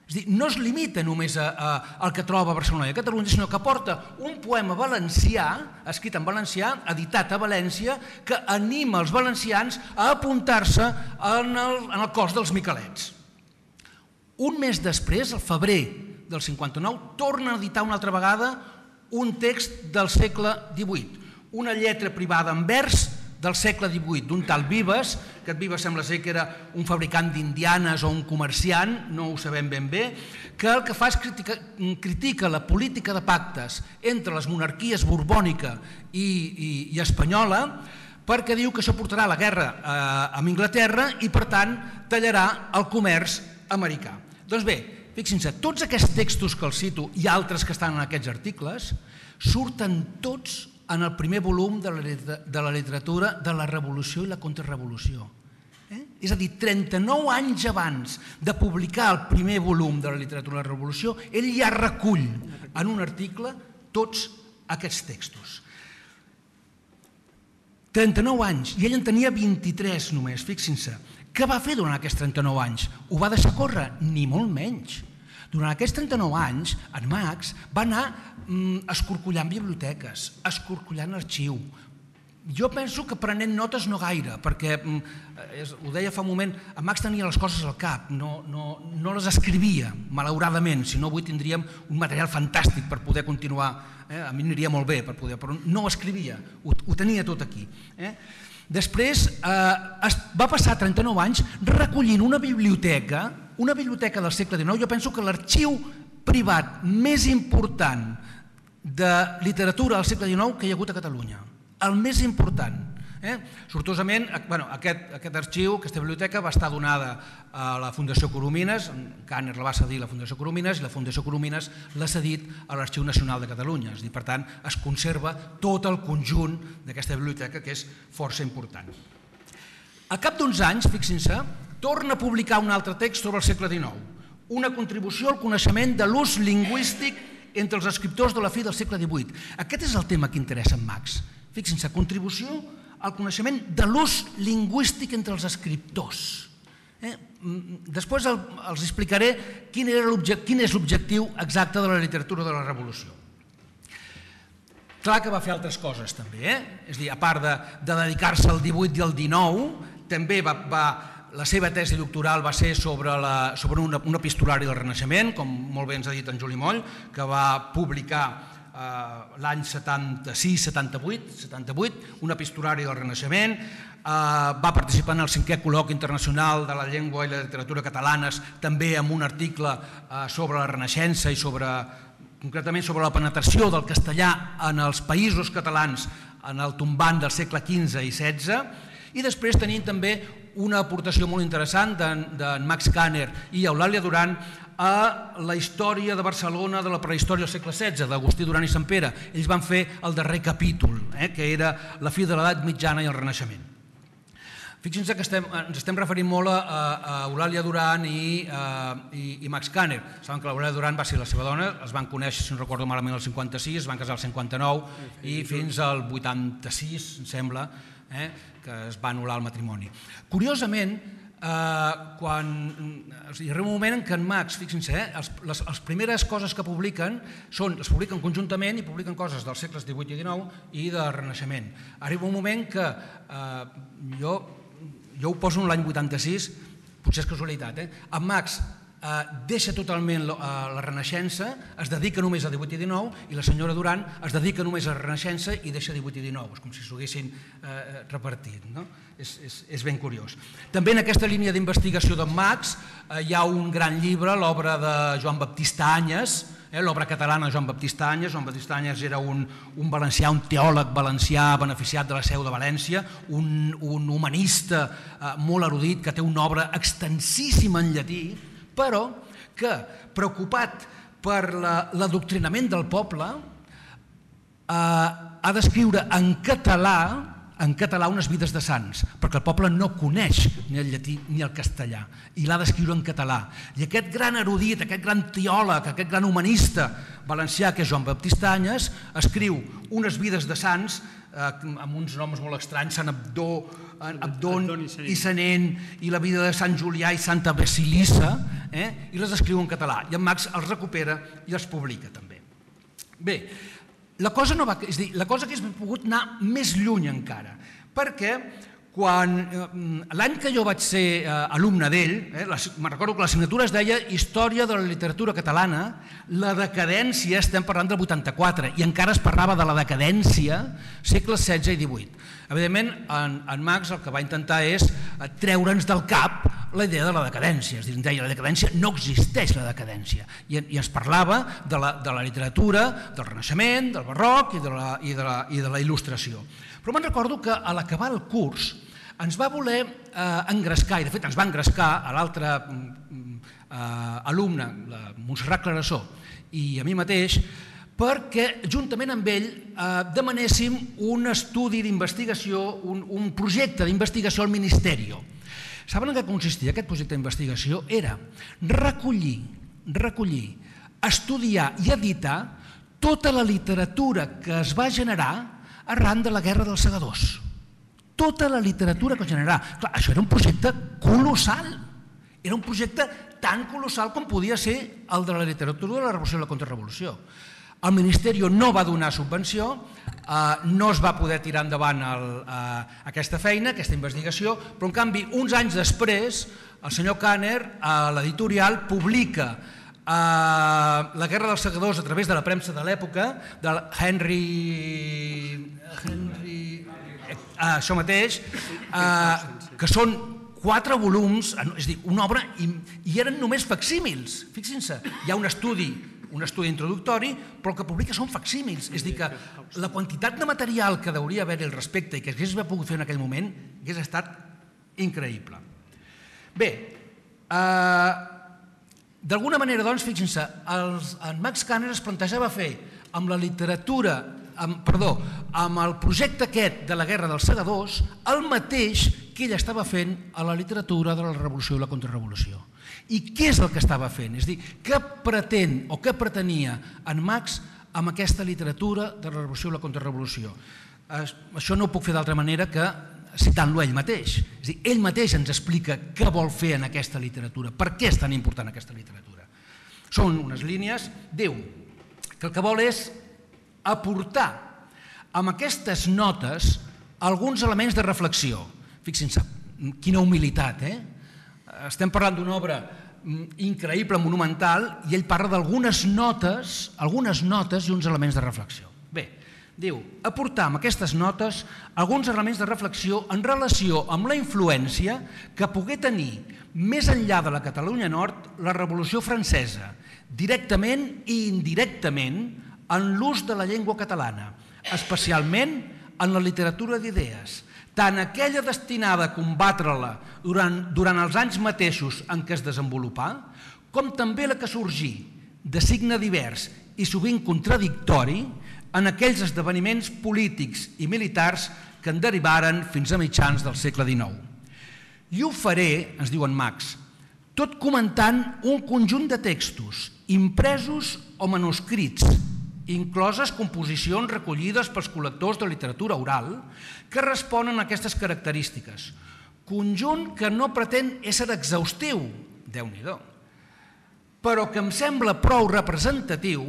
És a dir, no es limita només a, a, al que troba a Barcelona i a Catalunya, sinó que aporta un poema valencià, escrit en valencià, editat a València, que anima els valencians a apuntar-se en, el, en el cos dels Miquelets. Un mes després, al febrer del cinquanta-nou, torna a editar una altra vegada un text del segle divuit, una lletra privada en vers del segle divuit, d'un tal Vives, que Vives sembla ser que era un fabricant d'indianes o un comerciant, no ho sabem ben bé, que el que fa és critica, critica la política de pactes entre les monarquies borbònica i, i, i espanyola, perquè diu que això portarà a la guerra eh, amb Anglaterra i, per tant, tallarà el comerç americà. Doncs bé, fixin-se, tots aquests textos que els cito i altres que estan en aquests articles surten tots en el primer volum de la, de la literatura de la Revolució i la Contrarrevolució. Eh? És a dir, trenta-nou anys abans de publicar el primer volum de la literatura de la Revolució, ell ja recull en un article tots aquests textos. trenta-nou anys, i ell en tenia vint-i-tres només, fixin-se. Què va fer durant aquests trenta-nou anys? Ho va deixar córrer? Ni molt menys. Durant aquests trenta-nou anys, en Max va anar mm, escorcollant biblioteques, escorcollant arxiu. Jo penso que prenent notes no gaire, perquè, mm, ho deia fa un moment, en Max tenia les coses al cap, no, no, no les escrivia, malauradament, si no avui tindríem un material fantàstic per poder continuar, eh? A mi aniria molt bé, per poder, però no ho escrivia, ho, ho tenia tot aquí. Eh? Després eh, va passar trenta-nou anys recollint una biblioteca, una biblioteca del segle dinou, jo penso que l'arxiu privat més important de literatura del segle dinou que hi ha hagut a Catalunya. El més important. Eh? Sortosament, bueno, aquest, aquest arxiu, aquesta biblioteca va estar donada a la Fundació Coromines, Kanner la va cedir a la Fundació Coromines i la Fundació Coromines l'ha cedit a l'Arxiu Nacional de Catalunya. És a dir, per tant, es conserva tot el conjunt d'aquesta biblioteca, que és força important. Al cap d'uns anys, fixin-se, torna a publicar un altre text sobre el segle dinou, una contribució al coneixement de l'ús lingüístic entre els escriptors de la fi del segle divuit. Aquest és el tema que interessa en Max. Fixin-se, contribució al coneixement de l'ús lingüístic entre els escriptors. Eh? Després el, els explicaré quin, era quin és l'objectiu exacte de la literatura de la Revolució. Clar que va fer altres coses també, eh? És a dir, a part de, de dedicar-se al divuit i al dinou, també va, va, la seva tesi doctoral va ser sobre, la, sobre una, un epistolari del Renaixement, com molt bé ens ha dit en Juli Moll, que va publicar eh, l'any setanta-sis setanta-vuit, setanta-vuit, un epistolari del Renaixement, eh, va participar en el cinquè col·loqui internacional de la llengua i la literatura catalanes, també amb un article eh, sobre la Renaixença i sobre, concretament sobre la penetració del castellà en els països catalans en el tombant del segle quinze i setze, i després tenim també una aportació molt interessant d'en Max Kanner i Eulàlia Duran a la història de Barcelona de la prehistòria del segle setze, d'Agustí Duran i Sant Pere. Ells van fer el darrer capítol, eh, que era la fi de l'edat mitjana i el Renaixement. Fixin-se que estem, ens estem referint molt a, a Eulàlia Duran i, a, i, i Max Kanner. Saben que l'Eulàlia Duran va ser la seva dona, es van conèixer, si no recordo malament, el cinquanta-sis, es van casar el cinquanta-nou i fins al vuitanta-sis, em sembla, eh, que es va anul·lar el matrimoni. Curiosament, quan hi arriba un moment en què en Max, fixin-se, les primeres coses que publiquen són, les publiquen conjuntament i publiquen coses dels segles divuit i dinou i del Renaixement. Arriba un moment que jo ho poso en l'any vuitanta-sis, potser és casualitat, en Max deixa totalment la Renaixença, es dedica només a divuit i dinou, i la senyora Duran es dedica només a la Renaixença i deixa divuit i dinou, és com si s'ho haguessin repartit. És ben curiós. També en aquesta línia d'investigació d'en Max hi ha un gran llibre, l'obra de Joan Baptista Anyes, l'obra catalana de Joan Baptista Anyes. Joan Baptista Anyes era un valencià, un teòleg valencià beneficiat de la Seu de València, un humanista molt erudit que té una obra extensíssima en llatí, però que, preocupat per l'adoctrinament del poble, ha d'escriure en català en català unes vides de sants, perquè el poble no coneix ni el llatí ni el castellà, i l'ha d'escriure en català. I aquest gran erudit, aquest gran teòleg, aquest gran humanista valencià, que és Joan Baptista Anyes, escriu unes vides de sants amb uns noms molt estranys, Sant Abdó, Abdon i Sanent, i la vida de Sant Julià i Santa Basilissa, i les escriu en català. I en Max els recupera i els publica també. Bé, la cosa no va, és a dir, la cosa hauria pogut anar més lluny encara, perquè quan l'any que jo vaig ser alumne d'ell, me'n recordo que l'assignatura es deia Història de la literatura catalana, la decadència, estem parlant del vuitanta-quatre, i encara es parlava de la decadència segles setze i divuit. Evidentment, en Max el que va intentar és treure'ns del cap la idea de la decadència, és a dir, ens deia la decadència, no existeix la decadència, i ens parlava de la literatura, del Renaixement, del Barroc i de la Il·lustració. Però me'n recordo que a l'acabar el curs ens va voler engrescar, i de fet ens va engrescar a l'altre alumne, la Montserrat Clarasó, i a mi mateix, perquè juntament amb ell demanéssim un estudi d'investigació, un projecte d'investigació al Ministeri. Saben en què consistia aquest projecte d'investigació? Era recollir, recollir, estudiar i editar tota la literatura que es va generar arran de la Guerra dels Segadors. Tota la literatura que es generarà. Clar, això era un projecte colossal. Era un projecte tan colossal com podia ser el de la literatura de la Revolució i la Contrarrevolució. El Ministeri no va donar subvenció, no es va poder tirar endavant aquesta feina, aquesta investigació, però en canvi, uns anys després, el senyor Kanner, a l'editorial, publica La Guerra dels Segadors a través de la premsa de l'època, del Henry... això mateix, que són quatre volums, és a dir, una obra, i eren només facsímils, fixin-se, hi ha un estudi, un estudi introductori, però el que publica són facsímils, és a dir, que la quantitat de material que hauria d'haver-hi al respecte i que hagués pogut fer en aquell moment hagués estat increïble. Bé, d'alguna manera, doncs, fixin-se, en Max Kanner es plantejava fer amb la literatura, perdó, amb el projecte aquest de la Guerra dels Segadors, el mateix que ell estava fent a la literatura de la Revolució i la Contrarrevolució. I què és el que estava fent? És a dir, què pretén o què pretenia en Max amb aquesta literatura de la Revolució i la Contrarrevolució? Això no ho puc fer d'altra manera que citant-lo ell mateix. És a dir, ell mateix ens explica què vol fer en aquesta literatura, per què és tan important aquesta literatura. Són unes línies, diu que el que vol és aportar amb aquestes notes alguns elements de reflexió. Fixin-se, quina humilitat, eh? Estem parlant d'una obra increïble, monumental, i ell parla d'algunes notes, algunes notes i uns elements de reflexió. Bé, diu, aportar amb aquestes notes alguns elements de reflexió en relació amb la influència que pogué tenir més enllà de la Catalunya Nord la Revolució Francesa, directament i indirectament en l'ús de la llengua catalana, especialment en la literatura d'idees, tant aquella destinada a combatre-la durant els anys mateixos en què es desenvolupà, com també la que sorgí, de signe divers i sovint contradictori, en aquells esdeveniments polítics i militars que en derivaren fins a mitjans del segle dinou. I ho faré, ens diu en Max, tot comentant un conjunt de textos, impresos o manuscrits, incloses composicions recollides pels col·lectors de literatura oral que responen a aquestes característiques, conjunt que no pretén ésser exhaustiu, Déu-n'hi-do, però que em sembla prou representatiu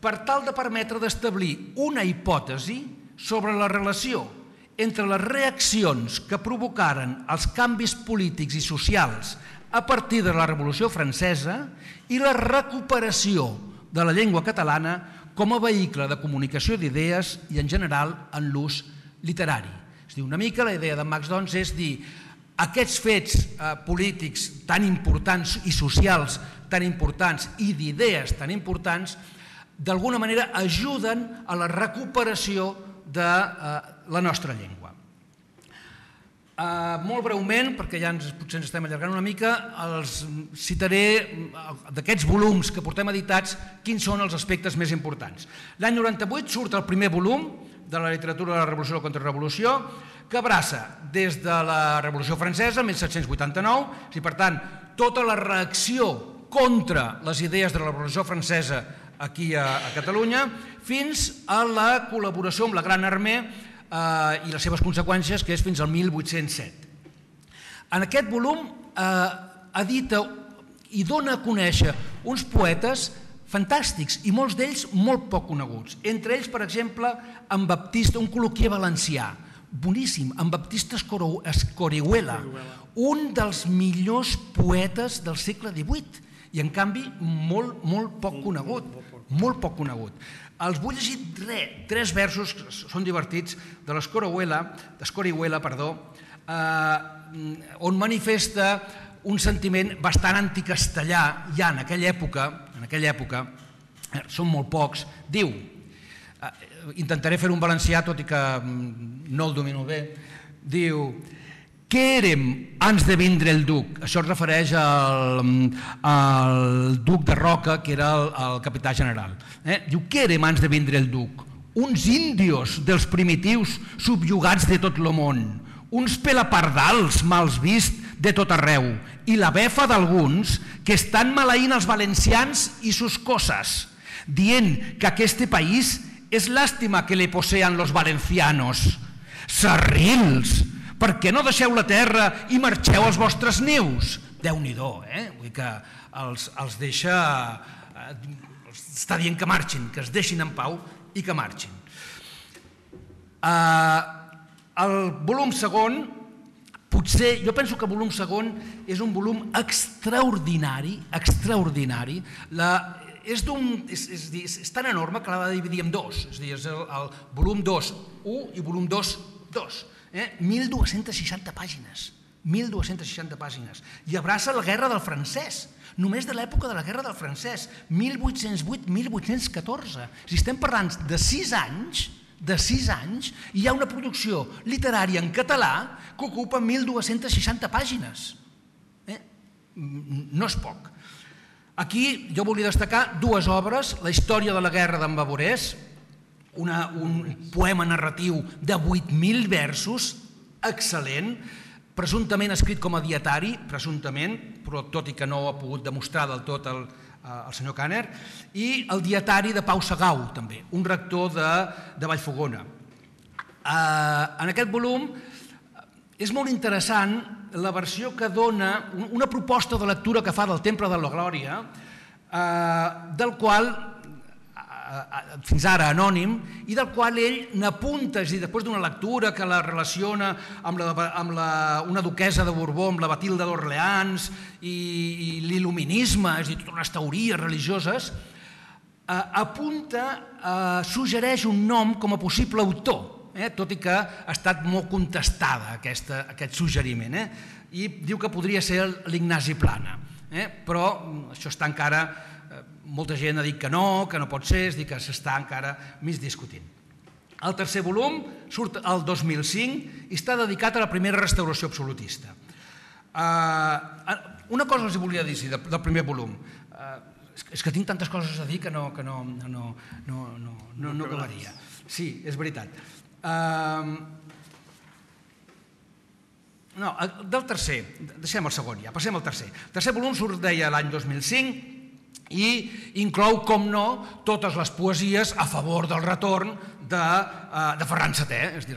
per tal de permetre d'establir una hipòtesi sobre la relació entre les reaccions que provocaren els canvis polítics i socials a partir de la Revolució Francesa i la recuperació de la llengua catalana com a vehicle de comunicació d'idees i, en general, en l'ús literari. És a dir, una mica la idea de Marx, doncs, és dir, aquests fets eh, polítics tan importants i socials tan importants i d'idees tan importants, d'alguna manera ajuden a la recuperació de eh, la nostra llengua. Uh, molt breument, perquè ja ens, potser ens estem allargant una mica, els citaré d'aquests volums que portem editats quins són els aspectes més importants. L'any noranta-vuit surt el primer volum de la literatura de la Revolució o la Contrarrevolució, que abraça des de la Revolució Francesa, mil set-cents vuitanta-nou, i per tant, tota la reacció contra les idees de la Revolució Francesa aquí a, a Catalunya, fins a la col·laboració amb la Gran Armée Uh, i les seves conseqüències, que és fins al mil vuit-cents set. En aquest volum uh, edita i dona a conèixer uns poetes fantàstics i molts d'ells molt poc coneguts. Entre ells, per exemple, en Baptista, un col·loquier valencià, boníssim, en Baptista Escorihuela, un dels millors poetes del segle divuit i, en canvi, molt, molt poc conegut. Molt poc conegut. Els vull llegir tres, tres versos, que són divertits, de l'Escorihuela, perdó, eh, on manifesta un sentiment bastant anticastellà, ja en aquella època, en aquella època, eh, són molt pocs, diu, eh, intentaré fer un valencià, tot i que no el domino bé, diu, què érem abans de vindre el duc? Això es refereix al, al duc de Roca, que era el, el capità general. Eh? Diu, què érem abans de vindre el duc? Uns índios dels primitius subjugats de tot el món, uns pelapardals mals vist de tot arreu, i la befa d'alguns que estan maleint els valencians i sus coses, dient que aquest país és làstima que le posean los valencianos. Serrils! Per què no deixeu la terra i marxeu als vostres nius? Déu-n'hi-do, eh? Vull dir que els, els deixa... Eh, està dient que marxin, que es deixin en pau i que marxin. Eh, el volum segon, potser, jo penso que el volum segon és un volum extraordinari, extraordinari. La, és, és, és, és tan enorme que l'ha de dividir en dos, és a dir, és el, el volum dos, u i volum dos, dos. Eh? mil dos-cents seixanta pàgines, mil dos-cents seixanta pàgines, i abraça la guerra del francès, només de l'època de la guerra del francès, mil vuit-cents vuit a mil vuit-cents catorze. Si estem parlant de sis anys, de sis anys, hi ha una producció literària en català que ocupa mil dos-cents seixanta pàgines. Eh? No és poc. Aquí jo volia destacar dues obres, la història de la guerra d'en Bavorès, Una, un poema narratiu de vuit mil versos, excel·lent, presumptament escrit com a dietari, presumptament, però tot i que no ho ha pogut demostrar del tot el, el senyor Kanner, i el dietari de Pau Segau, també, un rector de, de Vallfogona. Eh, en aquest volum és molt interessant la versió que dona, una proposta de lectura que fa del Temple de la Glòria, eh, del qual fins ara anònim, i del qual ell n'apunta, és a dir, després d'una lectura que la relaciona amb, la, amb la, una duquesa de Borbó, amb la Batilda d'Orleans i, i l'il·luminisme, és a dir, totes unes teories religioses, eh, apunta, eh, suggereix un nom com a possible autor, eh, tot i que ha estat molt contestada aquesta, aquest suggeriment, eh, i diu que podria ser l'Ignasi Plana, eh, però això està encara... Molta gent ha dit que no, que no pot ser, és dir, que s'està encara més discutint. El tercer volum surt el dos mil cinc i està dedicat a la primera restauració absolutista. Una cosa els volia dir del primer volum. És que tinc tantes coses a dir que no acabaria. Sí, és veritat. No, del tercer, deixem el segon ja, passem al tercer. El tercer volum surt, deia, l'any dos mil cinc, i inclou, com no, totes les poesies a favor del retorn de Ferran setè, és a dir,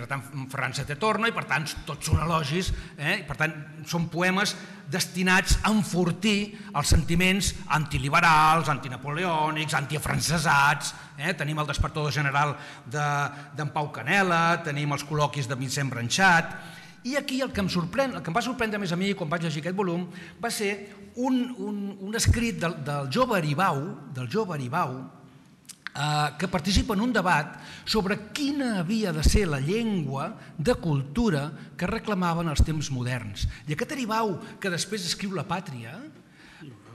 Ferran setè torna i per tant tots són elogis, i per tant són poemes destinats a enfortir els sentiments antiliberals, antinapoleònics, antiafrancesats, tenim el despertador general d'en Pau Canela, tenim els col·loquis de Vicent Branxat, i aquí el que em sorprèn, el que em va sorprendre més a mi quan vaig llegir aquest volum va ser un escrit del jove Aribau, del jove Aribau, que participa en un debat sobre quina havia de ser la llengua de cultura que reclamaven els temps moderns. I aquest Aribau, que després escriu La Pàtria,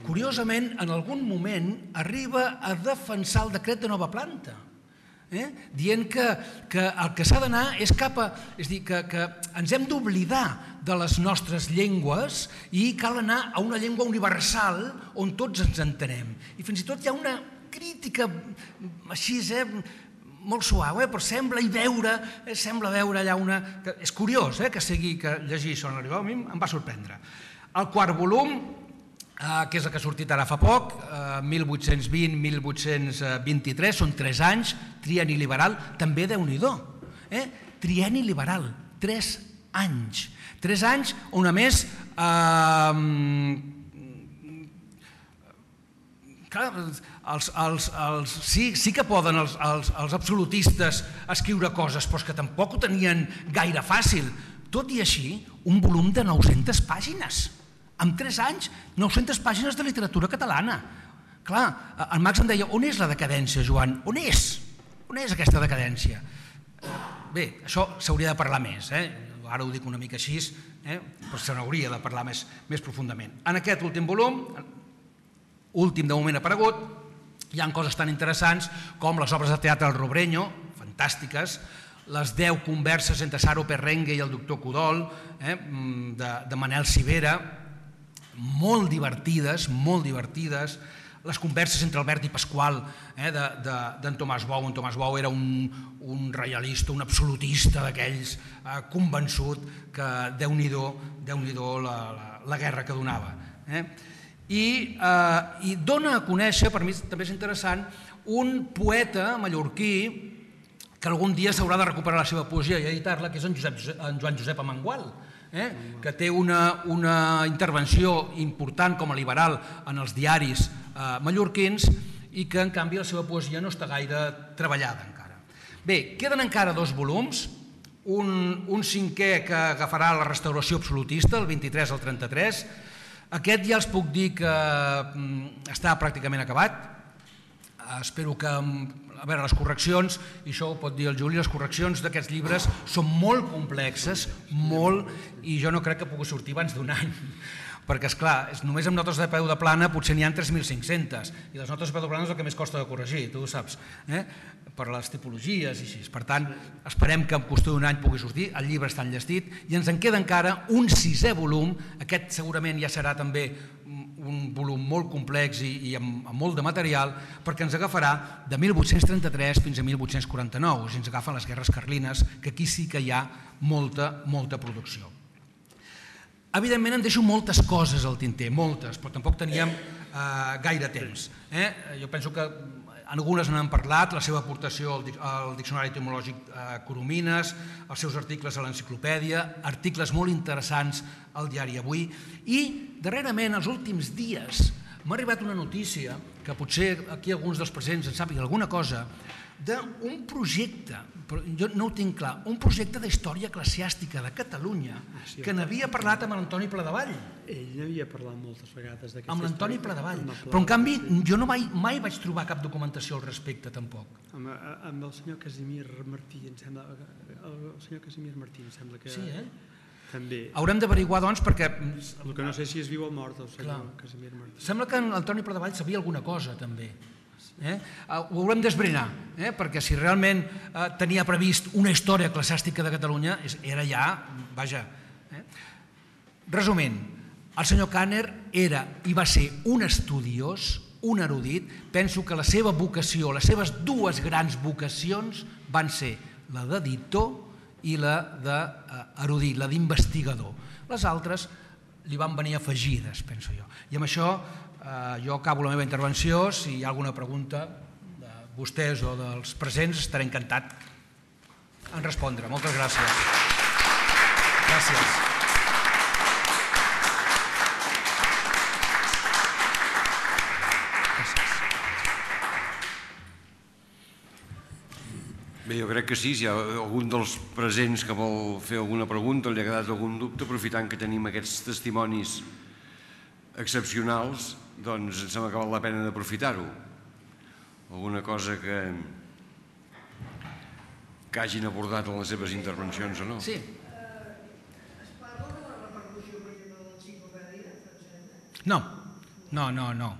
curiosament, en algun moment arriba a defensar el decret de nova planta, dient que el que s'ha d'anar és cap a... És a dir, que ens hem d'oblidar de les nostres llengües i cal anar a una llengua universal on tots ens entenem. I fins i tot hi ha una crítica així, molt suau, però sembla i veure, sembla veure allà una... És curiós que sigui que llegir això en l'Aribau, a mi em va sorprendre. El quart volum, que és el que ha sortit ara fa poc, mil vuit-cents vint a mil vuit-cents vint-i-tres, són tres anys, trienni liberal, també Déu-n'hi-do. Trienni liberal, tres anys. Tres anys on a més... Sí que poden els absolutistes escriure coses, però és que tampoc ho tenien gaire fàcil. Tot i així, un volum de nou-centes pàgines. En tres anys, nou-centes pàgines de literatura catalana. Clar, en Marx em deia, on és la decadència, Joan? On és? On és aquesta decadència? Bé, això s'hauria de parlar més. Ara ho dic una mica així, però se n'hauria de parlar més profundament. En aquest últim volum, últim de moment aparegut, hi ha coses tan interessants com les obres de teatre del Robreño, fantàstiques, les deu converses entre Saro Perrengue i el doctor Codol, de Manel Civera, molt divertides, molt divertides, les converses entre Albert i Pasqual d'en Tomàs Bou. En Tomàs Bou era un reialista, un absolutista d'aquells, convençut que Déu-n'hi-do, Déu-n'hi-do la guerra que donava. I dona a conèixer, per mi també és interessant, un poeta mallorquí que algun dia s'haurà de recuperar la seva poesia i editar-la, que és en Joan Josep Amengual, que té una intervenció important com a liberal en els diaris mallorquins i que, en canvi, la seva poesia no està gaire treballada encara. Bé, queden encara dos volums, un cinquè que agafarà la restauració absolutista, el vint-i-tres al trenta-tres. Aquest ja els puc dir que està pràcticament acabat. Espero que, a veure, les correccions, i això ho pot dir el Juli, les correccions d'aquests llibres són molt complexes, molt, i jo no crec que pugui sortir abans d'un any. Perquè, esclar, només amb notes de peu de plana potser n'hi ha tres mil cinc-centes, i les notes de peu de plana és el que més costa de corregir, tu ho saps, per les tipologies i així. Per tant, esperem que en qüestió d'un any pugui sortir, el llibre està enllestit, i ens en queda encara un sisè volum, aquest segurament ja serà també un volum molt complex i amb molt de material, perquè ens agafarà de mil vuit-cents trenta-tres fins a mil vuit-cents quaranta-nou, si ens agafen les guerres carlines, que aquí sí que hi ha molta, molta producció. Evidentment, en deixo moltes coses al tinter, moltes, però tampoc teníem gaire temps. Jo penso que algunes n'han parlat, la seva aportació al Diccionari Etimològic Coromines, els seus articles a l'enciclopèdia, articles molt interessants al diari Avui, i darrerament, els últims dies, m'ha arribat una notícia, que potser aquí alguns dels presents en sàpiga alguna cosa, d'un projecte, però jo no ho tinc clar, un projecte d'història eclesiàstica de Catalunya que n'havia parlat amb l'Antoni Pladevall. Ell n'havia parlat moltes vegades d'aquesta història. Amb l'Antoni Pladevall. Però en canvi jo mai vaig trobar cap documentació al respecte tampoc. Amb el senyor Casimir Martí, em sembla, el senyor Casimir Martí, em sembla que... Sí, eh? També. Haurem d'averiguar, doncs, perquè... El que no sé si és viu o mort, el senyor Casimir Martí. Sembla que l'Antoni Pladevall sabia alguna cosa, també. Ho haurem d'esbrinar, perquè si realment tenia previst una història eclesiàstica de Catalunya, era ja, vaja. Resumint, el senyor Kanner era i va ser un estudiós, un erudit. Penso que la seva vocació, les seves dues grans vocacions van ser la d'editor i la d'erudit, la d'investigador. Les altres li van venir afegides, penso jo. I amb això jo acabo la meva intervenció. Si hi ha alguna pregunta de vostès o dels presents, estaré encantat en respondre. Moltes gràcies. Gràcies. Bé, jo crec que sí, si hi ha algun dels presents que vol fer alguna pregunta o li ha quedat algun dubte, aprofitant que tenim aquests testimonis excepcionals, doncs em sembla que val la pena d'aprofitar-ho. Alguna cosa que, que hagin abordat en les seves intervencions o no? Sí. Es parla de la repercussió, per exemple, de l'enciclopèdia francesa? No, no, no, no.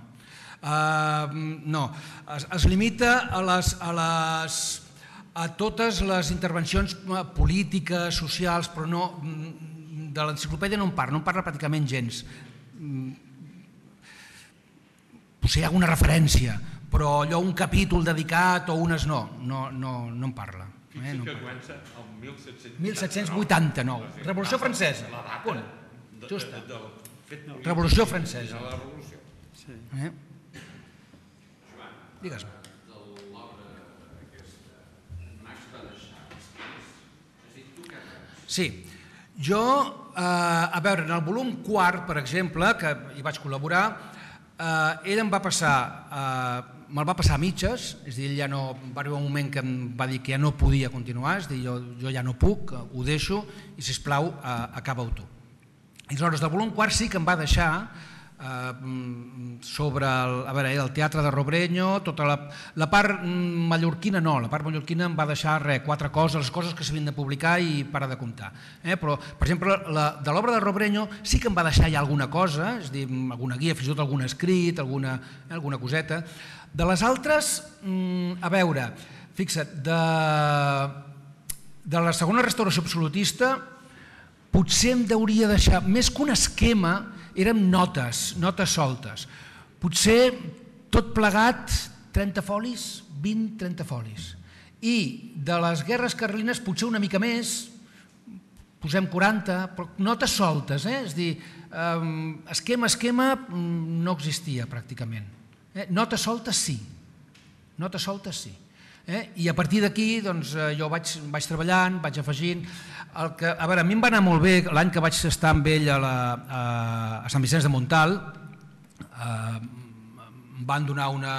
Uh, no, es, es limita a les... A les a totes les intervencions polítiques, socials, però no, de l'enciclopèdia no en parla, no en parla pràcticament gens. Potser hi ha alguna referència, però allò un capítol dedicat o unes no, no, no, no en parla. Fixa que comença el mil set-cents vuitanta-nou, Revolució Francesa. Punt. Justa. Revolució Francesa. Eh? Digues-me. Sí, jo, eh, a veure, en el volum quart, per exemple, que hi vaig col·laborar, eh, ell em va passar, eh, me'l va passar a mitges, és a dir, ell ja no, va arribar un moment que em va dir que ja no podia continuar, és a dir, jo, jo ja no puc, ho deixo, i sisplau, eh, acaba-ho tu. I aleshores, del volum quart sí que em va deixar eh, sobre el, a veure, el teatre de Robrenyo, tota la, la part mallorquina no, la part mallorquina em va deixar res, quatre coses, les coses que s'havien de publicar i para de comptar. Eh? Però, per exemple, la, de l'obra de Robrenyo sí que em va deixar ja alguna cosa, és a dir, alguna guia, fins i tot algun escrit, alguna, eh, alguna coseta. De les altres, a veure, fixa't, de, de la segona restauració absolutista potser em hauria deixar, més que un esquema, eren notes, notes soltes. Potser tot plegat trenta folis, vint trenta folis. I de les guerres carlines potser una mica més, posem quaranta, però notes soltes, eh? És a dir, esquema, esquema no existia pràcticament. Eh? Notes soltes sí, notes soltes sí. Eh? I a partir d'aquí doncs, jo vaig, vaig treballant, vaig afegint. El que, a veure, a mi em va anar molt bé l'any que vaig estar amb ell a, la, a, a Sant Vicenç de Montalt, eh, em van donar una,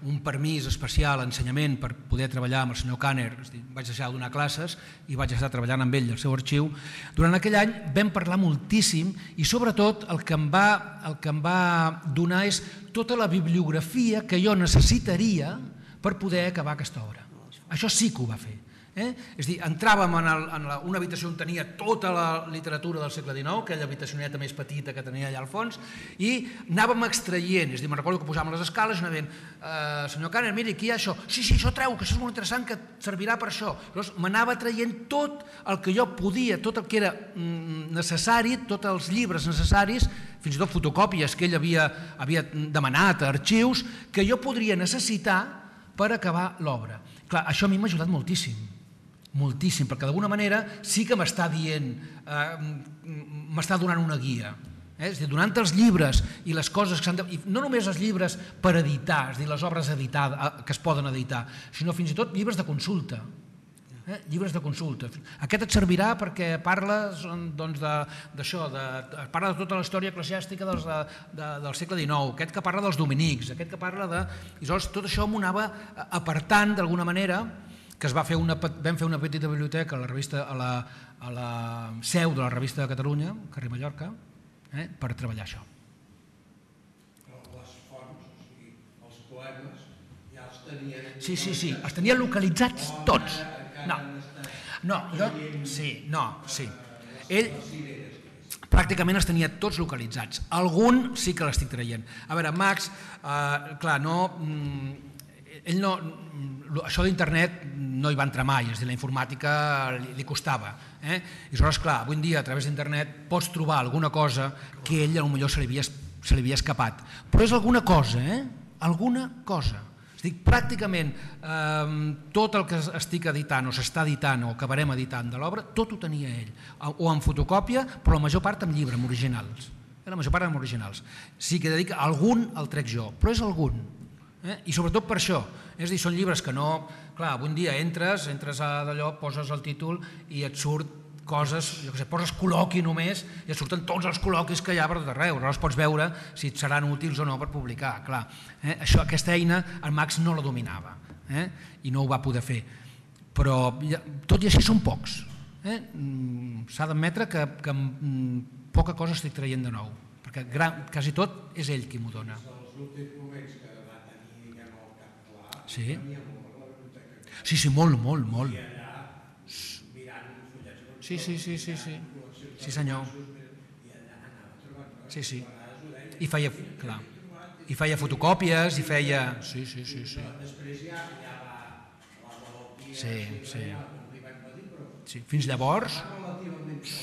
un permís especial a ensenyament per poder treballar amb el senyor Kanner, és dir, vaig deixar de donar classes i vaig estar treballant amb ell al seu arxiu. Durant aquell any vam parlar moltíssim i sobretot el que em va, el que em va donar és tota la bibliografia que jo necessitaria per poder acabar aquesta obra. Això sí que ho va fer. Eh? És a dir, entràvem en, el, en la, una habitació on tenia tota la literatura del segle dinou, aquella habitacioneta més petita que tenia allà al fons, i anàvem extraient, és a dir, me'n recordo que posàvem les escales i anàvem, eh, senyor Kanner, miri, aquí hi ha això, sí, sí, això treu, que això és molt interessant, que servirà per això. Llavors m'anava traient tot el que jo podia, tot el que era necessari, tots els llibres necessaris, fins i tot fotocòpies que ell havia, havia demanat a arxius, que jo podria necessitar per acabar l'obra. Clar, això a mi m'ha ajudat moltíssim, moltíssim, perquè d'alguna manera sí que m'està dient, eh, m'està donant una guia. Eh? És a dir, donant els llibres i les coses que s'han de... I no només els llibres per editar, és a dir, les obres editades, que es poden editar, sinó fins i tot llibres de consulta. Eh? Llibres de consulta. Aquest et servirà perquè parles doncs, d'això, de, de, parla de tota la història eclesiàstica dels, de, de, del segle dinou, aquest que parla dels dominics, aquest que parla de... I llavors tot això m'ho anava apartant d'alguna manera, que es va fer una, vam fer una petita biblioteca a la, revista, a la, a la seu de la Revista de Catalunya, carrer Mallorca, eh, per treballar això. Les fonts, o sigui, els poemes, ja els tenien... Sí, sí, sí, els tenia localitzats tots. No, no, jo... Sí, no, sí. Ell pràcticament els tenia tots localitzats. Algun sí que l'estic traient. A veure, Max, eh, clar, no... Ell no... Això d'internet no hi va entrar mai, és a dir, la informàtica li, li costava. Eh? I aleshores, clar, avui en dia, a través d'internet, pots trobar alguna cosa que ell potser se li havia, se li havia escapat. Però és alguna cosa, eh? Alguna cosa. És a dir, pràcticament eh, tot el que estic editant o s'està editant o acabarem editant de l'obra, tot ho tenia ell. O en fotocòpia, però la major part en llibre, en originals. La major part en originals. Sí que dedica, algun el trec jo, però és algun. Eh? I sobretot per això, És a dir, són llibres que no... Clar, un dia entres, entres a d'allò, poses el títol i et surt coses, jo què sé, poses col·loqui només i et surten tots els col·loquis que hi ha per tot arreu. Aleshores pots veure si et seran útils o no per publicar. Clar, eh? Això, aquesta eina el Max no la dominava, eh? I no ho va poder fer. Però tot i així són pocs. Eh? S'ha d'admetre que, que poca cosa estic traient de nou, perquè gran, quasi tot és ell qui m'ho dona. Els últims moments que va tenir, diguem, el cap clar, Sí, tenia molt a la biblioteca. sí, sí, molt, molt, molt. I allà, mirant fullets, Sí, sí, sí, sí, sí. Sí, senyor. i allà anava trobant coses. Sí, sí. A vegades ho deia. I feia, clar, i feia fotocòpies, i feia... Sí, sí, sí, sí. Després ja, ja va la malaltia, Sí, sí. li van dir, però Sí, fins llavors... relativament poc,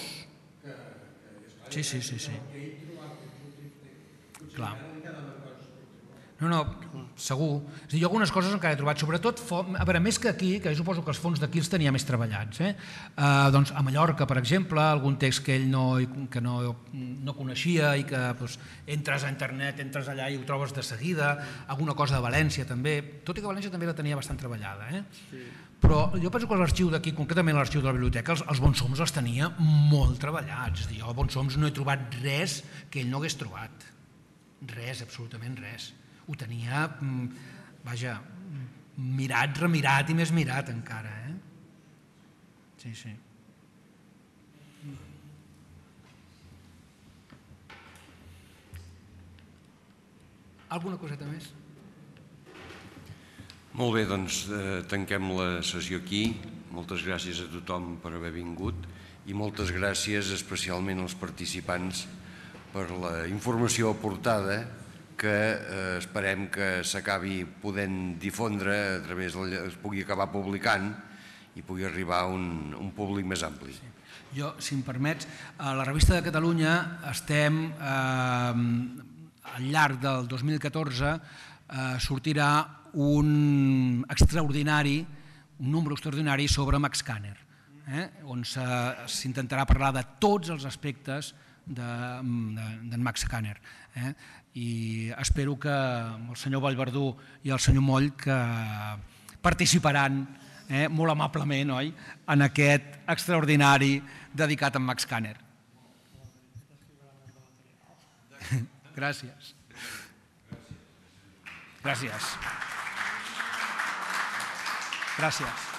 que, que esclar, Sí, sí, sí, sí. que ell trobava els últims temps. Clar. Potser li quedaven coses per trobar. No, no, segur. És a dir, jo algunes coses encara he trobat, sobretot, a veure, més que aquí, que jo suposo que els fons d'aquí els tenia més treballats, eh? Uh, doncs a Mallorca, per exemple, algun text que ell no, que no, no coneixia i que doncs, entres a internet, entres allà i ho trobes de seguida, alguna cosa de València també, tot i que València també la tenia bastant treballada, eh? Sí. Però jo penso que l'arxiu d'aquí, concretament l'arxiu de la biblioteca, els, els bonsoms els tenia molt treballats. És a dir, jo a bonsoms no he trobat res que ell no hagués trobat. Res, absolutament res. Ho tenia, vaja, mirat, remirat i més mirat encara, eh? Sí, sí. Alguna coseta més? Molt bé, doncs eh, tanquem la sessió aquí. Moltes gràcies a tothom per haver vingut i moltes gràcies especialment als participants per la informació aportada que eh, esperem que s'acabi podent difondre a través del, es pugui acabar publicant i pugui arribar a un, un públic més ampli. Sí. Jo, si em permets, a la Revista de Catalunya estem, eh, al llarg del dos mil catorze, eh, sortirà un extraordinari, un número extraordinari sobre Max Kanner, eh, on s'intentarà parlar de tots els aspectes d'en Max Kanner. Eh? I espero que el senyor Vallverdú i el senyor Moll que participaran eh, molt amablement, oi?, en aquest extraordinari dedicat a Max Kanner. Gràcies. Gràcies. Gràcies.